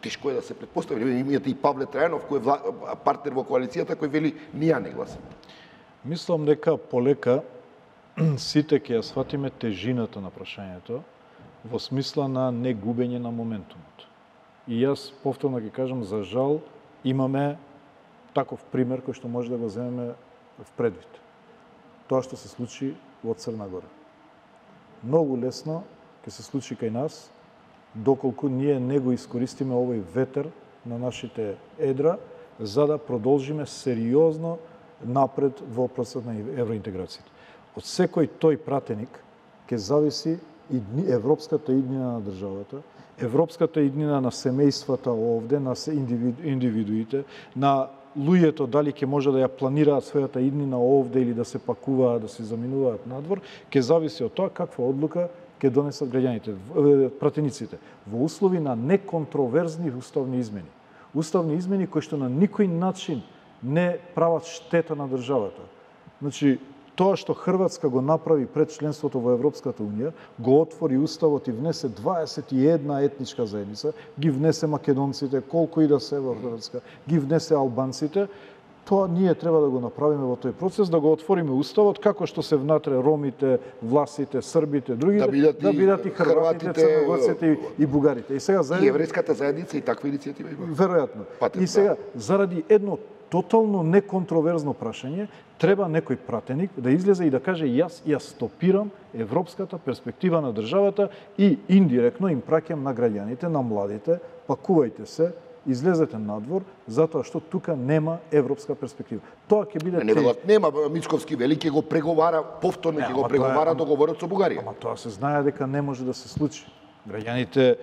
тешко е да се претпостави. Имате и Павле Трајанов кој е партнер во коалицијата кој вели ние не гласаме. Мислам дека полека сите ќе ја сватиме тежината на прашањето во смисла на негубење на моментумот. И јас повторно ќе кажам, за жал, имаме таков пример кој што може да го земеме в предвид. Тоа што се случи во Црна Гора. Многу лесно ќе се случи кај нас, доколку ние не го искористиме овој ветер на нашите едра, за да продолжиме сериозно напред во процесот на евроинтеграцијата. Од секој тој пратеник ќе зависи и европската иднина на државата, европската иднина на семејствата овде, на индивидуите, на луѓето дали ќе може да ја планираат својата иднина овде или да се пакуваат, да се заминуваат надвор, ќе зависи од тоа каква одлука ќе донесат граѓаните, пратениците, во услови на неконтроверзни уставни измени. Уставни измени кои што на никој начин не прават штета на државата. Значи, тоа што Хрватска го направи пред членството во Европската Унија, го отвори уставот и внесе 21 етничка заедница, ги внесе македонците, колку и да се во Хрватска, ги внесе албанците, тоа ние треба да го направиме во тој процес, да го отвориме уставот, како што се внатре ромите, власите, србите, другите, да бидат и хрватите, црногорците и бугарите. И сега и еврејската заедница и таква иницијатива има. Веројатно. И сега заради едно тотално неконтроверзно прашање, треба некој пратеник да излезе и да каже јас ја стопирам европската перспектива на државата и индиректно им праќам на граѓаните, на младите, пакувајте се, излезете надвор, затоа што тука нема европска перспектива. Тоа ќе биде нема Мицковски вели ќе го преговара, повторно ќе го преговара договорот со Бугарија. Ама тоа се знае дека не може да се случи. Граѓаните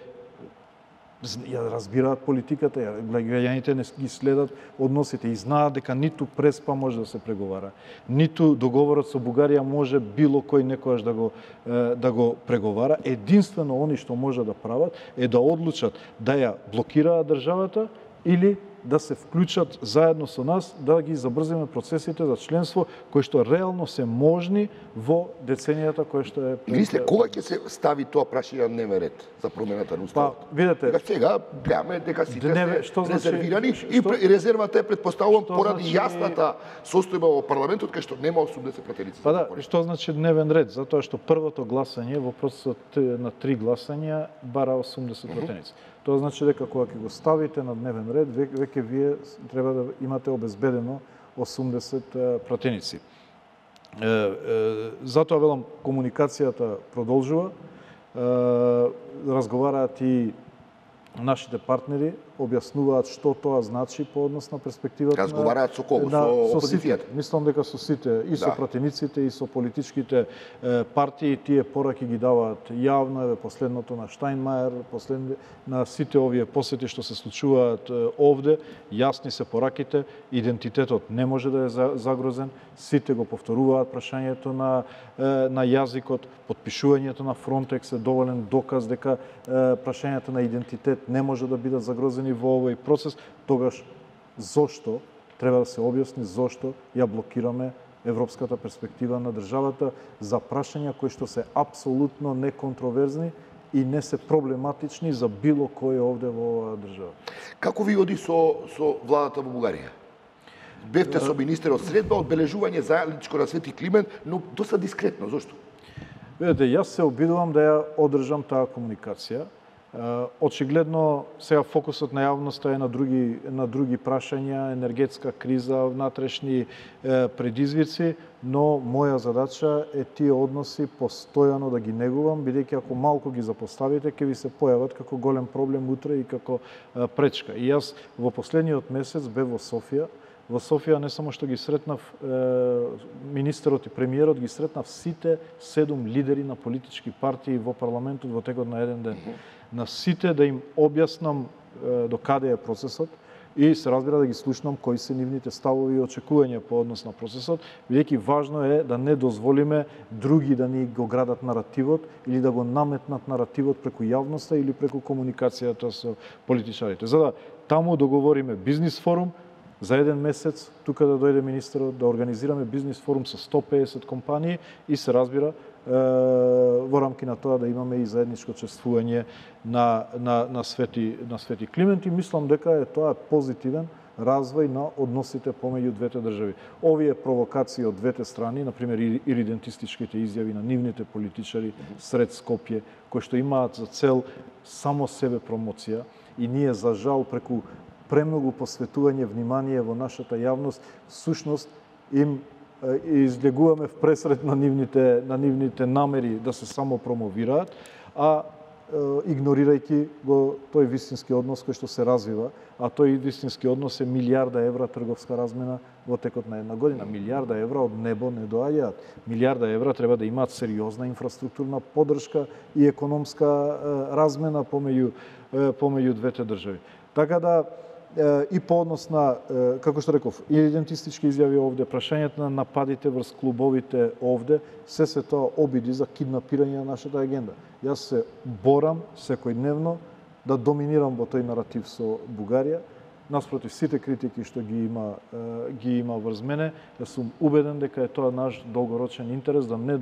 ја разбираат политиката, граѓаните не ги следат односите и знаат дека ниту Преспа може да се преговара, ниту договорот со Бугарија може било кој некојаш да го преговара. Единствено они што може да прават е да одлучат да ја блокираат државата или да се вклучат заедно со нас да ги забрзиме процесите за членство кои што реално се можни во деценијата кои што е. Мисле, кога ќе се стави тоа прашање на дневен ред за промената на уставот? Видете, сега гледаме дека сите се резервирани и резервата е предпоставувам поради јасната состојба во парламентот кај што нема 80 пратеници. Па да, што значи дневен ред? Затоа што првото гласање во процесот на 3 гласања бара 80 пратеници. Тоа значи дека кога ќе го ставите на дневен ред, веќе вие треба да имате обезбедено 80 пратеници. Затоа велам, комуникацијата продолжува, разговараат и нашите партнери, објаснуваат што тоа значи по однос на перспективата. Разговараат со кого? Со опозицијата? Мислам дека со сите, и со пратениците, и со политичките партии, тие пораки ги даваат јавно, последното на Штајнмајер, на сите овие посети што се случуваат овде, јасни се пораките, идентитетот не може да е загрозен, сите го повторуваат прашањето на јазикот, подпишувањето на Фронтекс е доволен доказ дека прашањето на идентитет не може да бидат загрозени во овој процес, тогаш зошто треба да се објасни зошто ја блокираме европската перспектива на државата за прашања кои што се апсолутно неконтроверзни и не се проблематични за било кој овде во оваа држава. Како ви оди со владата во Бугарија? Бевте со министерот средба, одбележување заедничко на Свети Климент, но доста дискретно. Зошто? Видете, јас се обидувам да ја одржам таа комуникација. Очигледно сега фокусот на јавноста е на други прашања, енергетска криза, внатрешни предизвици, но моја задача е тие односи постојано да ги негувам, бидејќи ако малку ги запоставите, ќе ви се појават како голем проблем утре и како пречка. И јас во последниот месец бев во Софија. Во Софија не само што ги сретнав министерот и премиерот, ги сретнав сите 7 лидери на политички партии во парламентот во текот на еден ден. На сите да им објаснам до каде е процесот, и се разбира да ги слушнам кои се нивните ставови и очекувања по однос на процесот, бидејќи важно е да не дозволиме други да ни го градат наративот или да го наметнат наративот преку јавноста или преку комуникацијата со политичарите. За да таму договориме бизнис форум, за еден месец тука да дојде министерот да организираме бизнис форум со 150 компании и се разбира во рамки на тоа да имаме и заедничко чествување на Свети Климент и мислам дека тоа е позитивен развој на односите помеѓу двете држави. Овие провокации од двете страни, например иридентистичките изјави на нивните политичари сред Скопје, кои што имаат за цел само себе промоција и ние за жал преку премногу посветување внимание во нашата јавност, всушност им излегуваме в пресред на нивните намери да се само промовираат, а игнорирајќи го тој вистински однос кој што се развива, а тој вистински однос е милијарда евра трговска размена во текот на една година. Милијарда евра од небо не доаѓаат. Милијарда евра треба да имаат сериозна инфраструктурна поддршка и економска размена помеѓу двете држави. Така да и по однос на, како што реков, идентистички изјави овде, прашањето на нападите врз клубовите овде, се тоа обиди за киднапирање на нашата агенда. Јас се борам секојдневно да доминирам во тој наратив со Бугарија, наспротив сите критики што ги има врз мене, јас сум убеден дека е тоа наш долгорочен интерес да не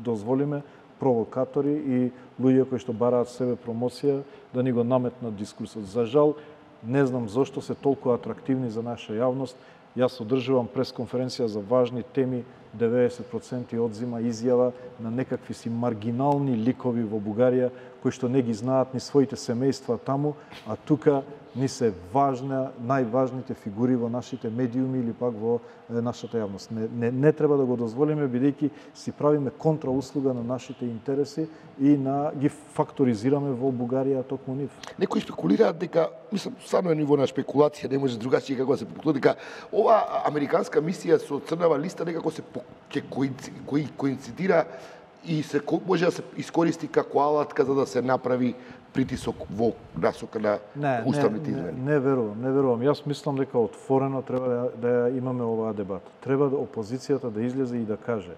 дозволиме провокатори и луѓе кои што бараат себе промоција да ни го наметнат дискурсот. За жал, не знам зошто се толку атрактивни за наша јавност. Јас одржувам пресконференција за важни теми, 90% одзима изјава на некакви си маргинални ликови во Бугарија, кои што не ги знаат ни своите семејства таму, а тука ни се најважните фигури во нашите медиуми или пак во нашата јавност. Не треба да го дозволиме, бидејќи си правиме контрауслуга на нашите интереси и ги факторизираме во Бугарија токму нив. Некои спекулираат дека, мислам, стварно е ниво на спекулација, не може другачи како да се спекулира, дека ова американска мисија со црнава листа некако се коинцидира и може да се искористи како алатка за да се направи притисок во насока на уставните измени. Не верувам. Јас мислам дека отворено треба да имаме оваа дебата. Треба опозицијата да излезе и да каже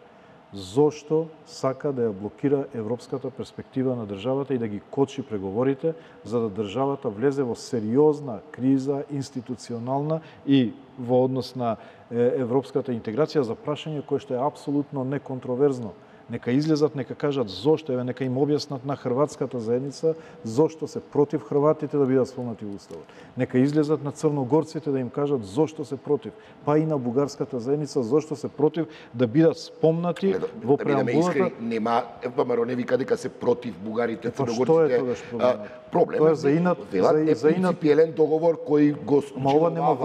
зошто сака да ја блокира европската перспектива на државата и да ги кочи преговорите за да државата влезе во сериозна криза институционална и во однос на европската интеграција за прашање кое што е апсолутно неконтроверзно. Нека излезат, нека кажат зошто, нека им објаснат на хрватската заедница зошто се против хрватите да бидат спомнати во уставот. Нека излезат на црногорците да им кажат зошто се против, па и на бугарската заедница зошто се против да бидат спомнати во преамбулата. Нема, ВМРО не вика дека се против бугарите, црногорците. Што е тогаш проблемот? Тоа е за инат принципиелен договор кој го ова нема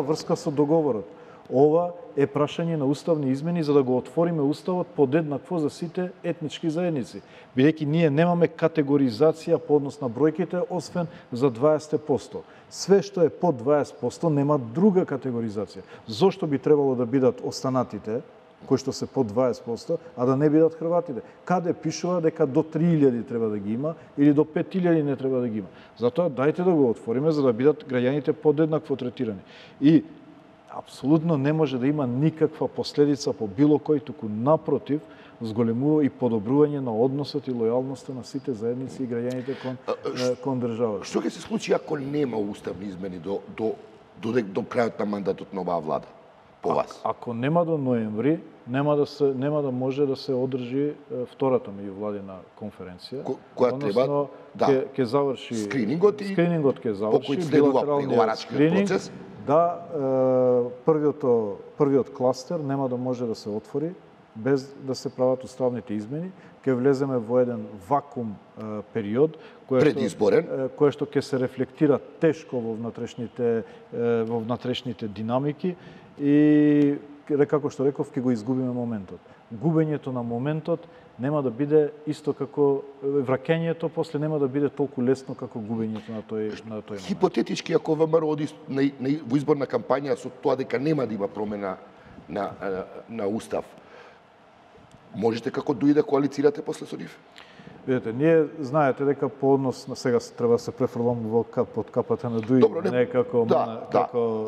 врска со договорот. Ова е прашање на уставни измени за да го отвориме уставот подеднакво за сите етнички заедници. Бидејќи ние немаме категоризација по однос на бројките, освен за 20%. Све што е под 20% нема друга категоризација. Зошто би требало да бидат останатите, кои што се под 20%, а да не бидат хрватите? Каде пишува дека до 3000 треба да ги има или до 5000 не треба да ги има? Затоа дајте да го отвориме за да бидат граѓаните подеднакво третирани. И апсолутно не може да има никаква последица по било кој, туку напротив, зголемува и подобрување на односот и лојалноста на сите заедници и граѓаните кон државата. Што ќе се случи ако нема уставни измени до крајот на мандатот на оваа влада? По вас? Ако нема до ноември, нема да може да се одржи втората меѓувладина конференција. Која треба ќе заврши скринингот ќе заврши по кој следува преговарачкиот процес. Да, првиот кластер нема да може да се отвори без да се прават уставните измени. Ќе влеземе во еден вакуум период кој што ќе се рефлектира тешко во внатрешните динамики и како што реков ќе го изгубиме моментот. Губењето на моментот нема да биде исто како враќањето, после нема да биде толку лесно како губењето на тој момент. Хипотетички, ако ВМРО оди во изборна кампања со тоа дека нема да има промена на устав, можете како дуи да коалицирате после со нив? Видете, ние знаете дека по однос на сега треба да се префрлам под капата на ДУИ, не како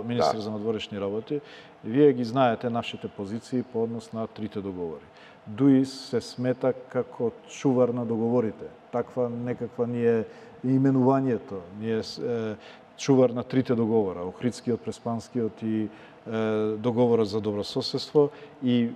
министр за надворешни работи. Вие ги знаете нашите позиции по однос на трите договори. ДУИ се смета како чувар на договорите. Таква некаква ни е именувањето. Ние чувар на трите договора, Охридскиот, Преспанскиот и договорот за добрососедство, и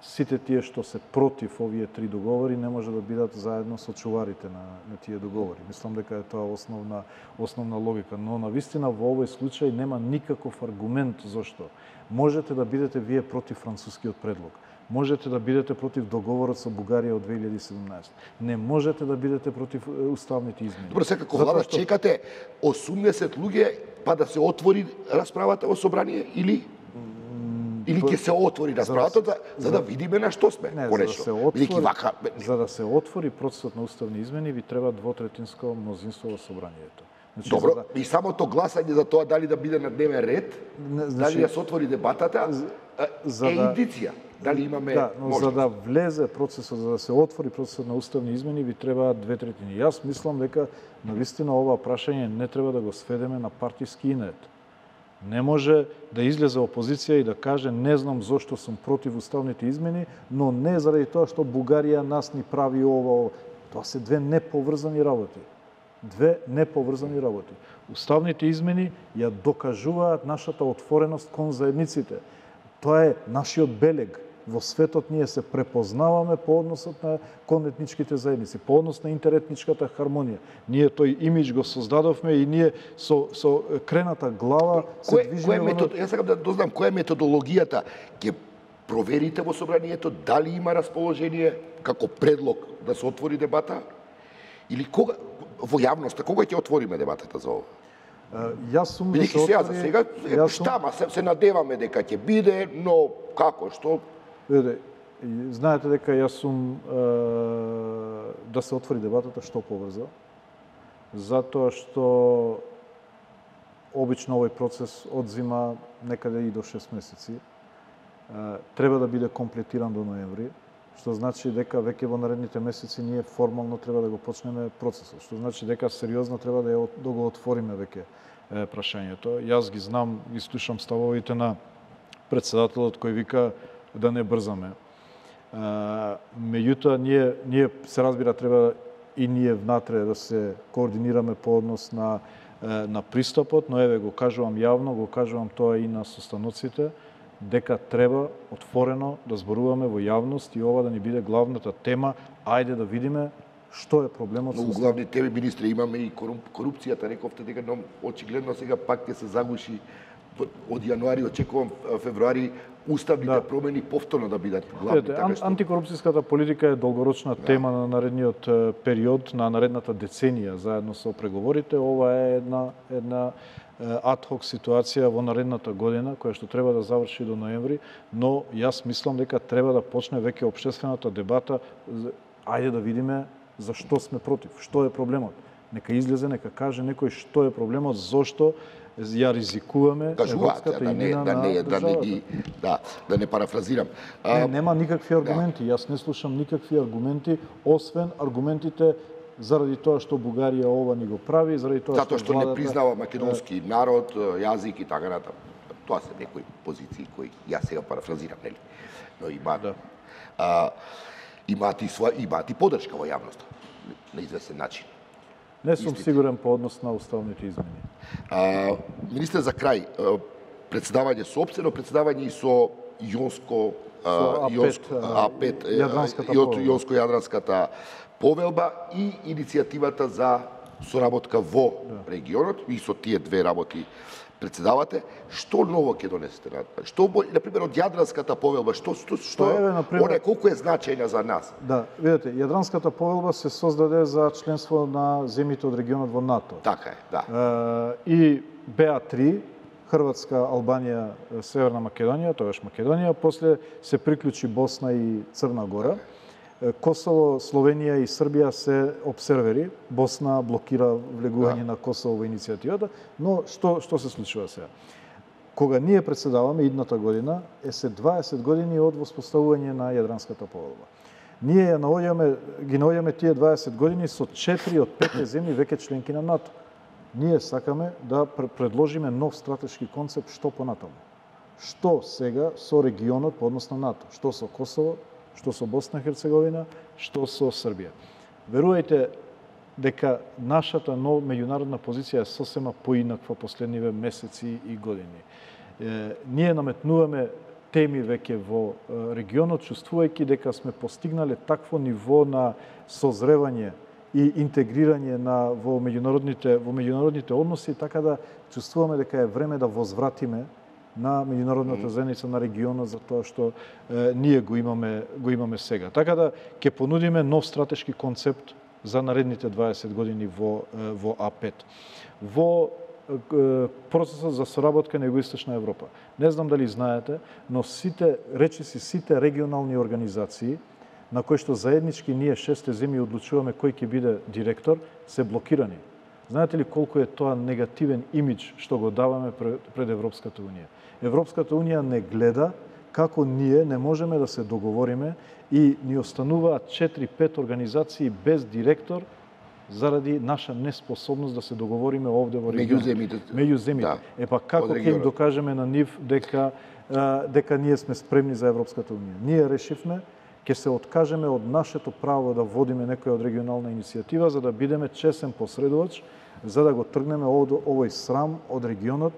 сите тие што се против овие три договори не може да бидат заедно со чуварите на тие договори. Мислам дека е тоа основна логика, но навистина во овој случај нема никаков аргумент зошто можете да бидете вие против францускиот предлог. Можете да бидете против договорот со Бугарија од 2017. Не можете да бидете против уставните измени. Добро, секако влада чекате 80 луѓе па да се отвори расправата во собрание или ќе се отвори расправата за да видиме на што сме. За да се отвори процесот на уставни измени ви треба двотретинско мнозинство во собранието. Значи, добро, и самото гласање за тоа дали да биде на дневен ред, дали да се отвори дебатата, индиција. Дали имаме за да влезе процесот, за да се отвори процесот на уставни измени, ви треба 2/3. Јас мислам дека навистина ова прашање не треба да го сведеме на партиски инет. Не може да излезе опозиција и да каже не знам зошто сум против уставните измени, но не заради тоа што Бугарија нас ни прави ова. Тоа се две неповрзани работи. Уставните измени ја докажуваат нашата отвореност кон заедниците. Тоа е нашиот белег. Во светот ние се препознаваме по односот кон етничките заедници, по однос на интеретничката хармонија. Ние тој имидж го создадовме и ние со крената глава се движиме. Јас сакам да дознам која е методологијата. Ќе проверите во собранието дали има расположение како предлог да се отвори дебата или кога во јавноста кога ќе отвориме дебатата за ова? Јас сум да се отвори. За сега штама се надеваме дека ќе биде, но како, што? Знаете дека јас сум да се отвори дебатата што побрзо, затоа што обично овој процес одзима некаде и до 6 месеци. Треба да биде комплетиран до ноември, што значи дека веќе во наредните месеци ние формално треба да го почнеме процесот, што значи дека сериозно треба да го отвориме веќе прашањето. Јас ги знам, ги слушам ставовите на председателот кој вика да не брзаме. Меѓутоа, ние се разбира треба и ние внатре да се координираме по однос на пристапот, но еве го кажувам јавно, го кажувам тоа и на состаноците, дека треба отворено да зборуваме во јавност и ова да ни биде главната тема. Ајде да видиме што е проблемот со главни теми, министри, имаме и корупцијата, рековте дека очигледно сега пак ќе се загуши. Од јануари очекувам февруари уставните промени повторно да бидат главни. Антикорупцијската политика е долгорочна тема на наредниот период, на наредната деценија заедно со преговорите. Ова е една адхок ситуација во наредната година која што треба да заврши до ноември, но јас мислам дека треба да почне веќе општествената дебата. Ајде да видиме за што сме против, што е проблемот. Нека излезе, нека каже некој што е проблемот, зошто ја ризикуваме европската имена на државата. Да не парафразирам. Нема никакви аргументи. Јас не слушам никакви аргументи, освен аргументите заради тоа што Бугарија ова ни го прави, заради тоа што не признава македонски народ, јазик и така натаму. Тоа се некои позиции кои јас сега парафразирам, нели? Но имаат и поддршка во јавноста на известен начин. Не сум сигурен по однос на уставните измени. Министер, за крај, председавање соопштено, председавање и со Јонско-Јадранската повелба и иницијативата за соработка во регионот, и со тие две работи председавате. Што ново ќе донесете? Што, например, од Јадранската повелба, што она колку е значајна за нас? Да, видите, Јадранската повелба се создаде за членство на земјите од регионот во НАТО. Така е, да. И БА3, Хрватска, Албанија, Северна Македонија, тогаш Македонија, после се приклучи Босна и Црна Гора. Косово, Словенија и Србија се обсервери. Босна блокира влегување на Косово во иницијативата, но што се случува сега? Кога ние председаваме идната година, е се 20 години од воспоставување на Јадранската повелба. Ние ги наоѓаме тие 20 години со 4 од 5 земји веќе членки на НАТО. Ние сакаме да предложиме нов стратешки концепт што понатаму. Што сега со регионот по однос на НАТО, што со Косово, што со Босна и Херцеговина, што со Србија. Верувајте дека нашата меѓународна позиција е сосема поинаква последниве месеци и години. Ние наметнуваме теми веќе во регионот, чувствувајќи дека сме постигнале такво ниво на созревање и интегрирање во меѓународните односи, така да чувствуваме дека е време да возвратиме на меѓународната заедница на регионот за тоа што ние го имаме сега. Така да ќе понудиме нов стратешки концепт за наредните 20 години во А5. Во процесот за соработка на Југоисточна Европа. Не знам дали знаете, но сите регионални организации на кои што заеднички ние 6 земји одлучуваме кој ќе биде директор, се блокирани. Знаете ли колку е тоа негативен имидж што го даваме пред Европската Унија? Европската Унија не гледа како ние не можеме да се договориме и ни остануваат 4-5 организации без директор заради наша неспособност да се договориме овде во регионот. Меѓу земјите. Да. Епа како ќе им докажеме на нив дека ние сме спремни за Европската Унија? Ние решивме ќе се откажеме од нашето право да водиме некоја од регионална иницијатива за да бидеме чесен посредувач, за да го тргнеме овој срам од регионот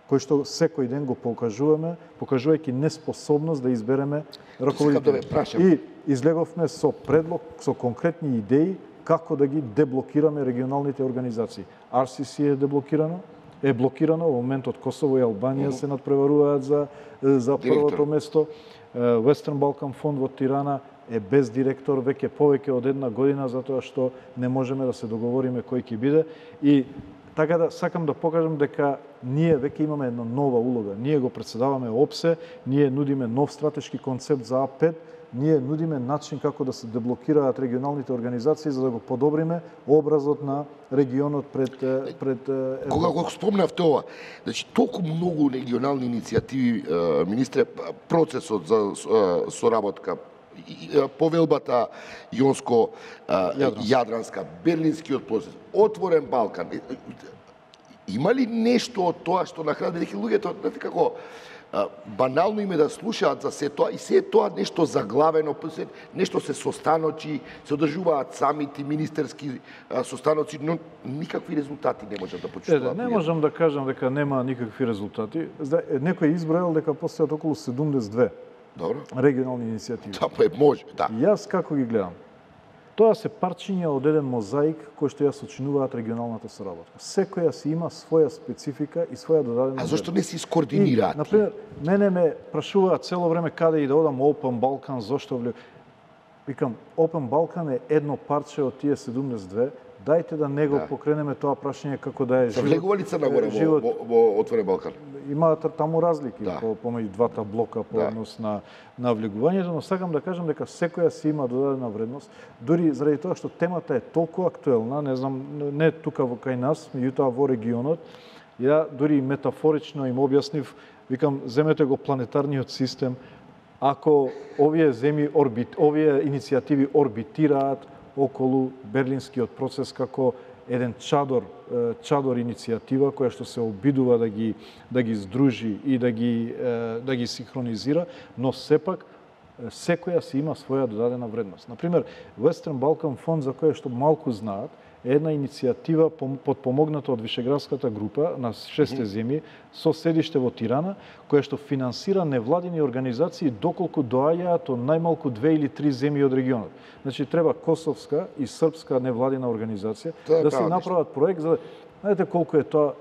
кој што секој ден го покажуваме, покажувајќи неспособност да избереме раководители. И излеговме со предлог, со конкретни идеи како да ги деблокираме регионалните организации. RCC е блокирано, во моментот Косово и Албанија се надпреваруваат за првото место. Western Balkan фонд во Тирана е без директор веќе повеќе од една година затоа што не можеме да се договориме кој ќе биде. И така да сакам да покажам дека ние веќе имаме една нова улога. Ние го претседаваме ОПСЕ, ние нудиме нов стратешки концепт за А5, ние нудиме начин како да се деблокираат регионалните организации за да го подобриме образот на регионот пред Кога го спомнав тоа, значи толку многу регионални иницијативи, министре, процесот за соработка, повелбата Јонско-Јадранска, Берлинскиот процес, Отворен Балкан. Има ли нешто од тоа што на крај дека луѓето, знаете како, банално име да слушаат за се тоа и се тоа нешто заглавено, нешто се состаноци, се одржуваат самити, министерски состаноци, но никакви резултати не можат да почувствуваат. Не можам да кажам дека нема никакви резултати. Некој изброил дека постојат околу 72 регионални иницијативи. Тоа може, да. Јас како ги гледам? Тоа се парчиња од еден мозаик кој што ја сочинуваат регионалната соработка. Секоја си има своја специфика и своја додадена. А зошто не се искоординираат? Например, мене ме прашуваат цело време каде и да одам Open Balkan, зошто Викам, Open Balkan е едно парче од тие 72. Дајте да не го покренеме тоа прашање како да е живот. Влегува ли Црна Гора во Отворен Балкан? Имаат таму разлики помеѓу двата блока по однос на влегувањето, но сакам да кажам дека секоја си има додадена вредност, дури заради тоа што темата е толку актуелна, не знам, не тука кај нас, меѓутоа во регионот. Ја дури метафорично им објаснив, викам, земете го планетарниот систем, ако овие иницијативи орбитираат околу Берлинскиот процес како еден чадор иницијатива која што се обидува да ги здружи и да ги синхронизира, но сепак секоја си има своја додадена вредност. Например, Western Balkan фонд, за која што малку знаат, е една иницијатива подпомогната од Вишеградската група на 6 земји со седиште во Тирана, која што финансира невладини организации доколку доаѓаат од најмалку 2 или 3 земји од регионот. Значи треба косовска и српска невладина организација да се направат проект за знаете колку е тоа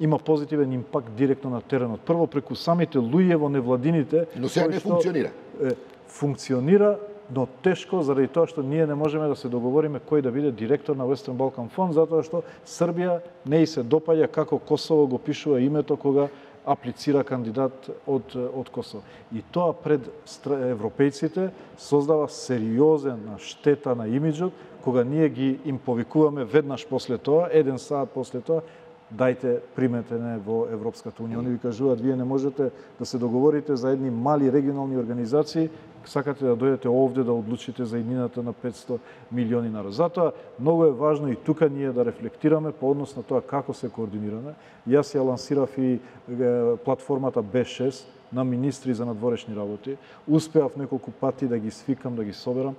има позитивен импакт директно на теренот. Прво преку самите луѓе во невладините, но сега не функционира. Функционира, но тешко заради тоа што ние не можеме да се договориме кој да биде директор на Western Balkan фонд, затоа што Србија не и се допаѓа како Косово го пишува името кога аплицира кандидат од Косово. И тоа пред европејците создава сериозна штета на имиджот, кога ние им повикуваме веднаш после тоа, 1 сат после тоа, дајте примете не во Европската унија. Они ви кажуваат, вие не можете да се договорите за едни мали регионални организации, сакате да дојдете овде да одлучите за иднината на 500 милиони народ. Затоа многу е важно и тука ние да рефлектираме по однос на тоа како се координираме. Јас ја лансирав и платформата B6 на министри за надворешни работи. Успеав неколку пати да ги свикам, да ги соберам.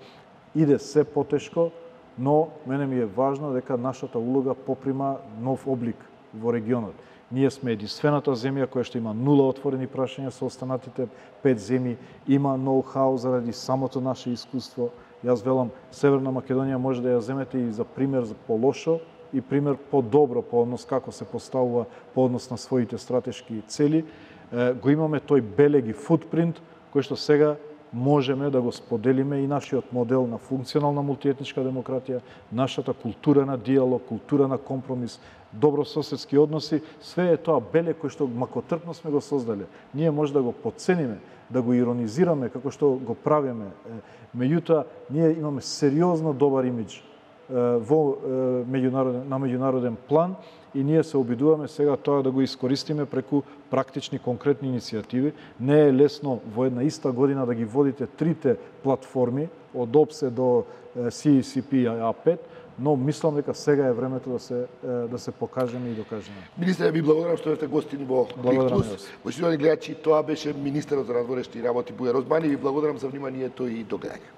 Иде се потешко, но мене ми е важно дека нашата улога поприма нов облик во регионот. Ние сме единствената земја која што има нула отворени прашања со останатите 5 земји, има ноу-хау заради самото наше искуство. Јас велам, Северна Македонија може да ја земете и за пример за по-лошо и пример по-добро по однос како се поставува по однос на своите стратешки цели. Го имаме тој белеги футпринт кој што сега можеме да го споделиме и нашиот модел на функционална мултиетничка демократија, нашата култура на диалог, култура на компромис, добрососедски односи, све е тоа беле кој што макотрпно сме го создале. Ние може да го подцениме, да го иронизираме како што го правиме. Меѓутоа, ние имаме сериозно добар имидж на меѓународен план и ние се обидуваме сега тоа да го искористиме преку практични, конкретни иницијативи. Не е лесно во една иста година да ги водите трите платформи, од ОПСЕ до CCP A5, но мислам дека сега е времето да се покажеме и докажеме. Министре, ви благодарам што сте гостини во Клик Плюс. Почитувани гледачи, тоа беше министерот за надворешни работи Бујар Османи. Ви благодарам за вниманието и до гледање.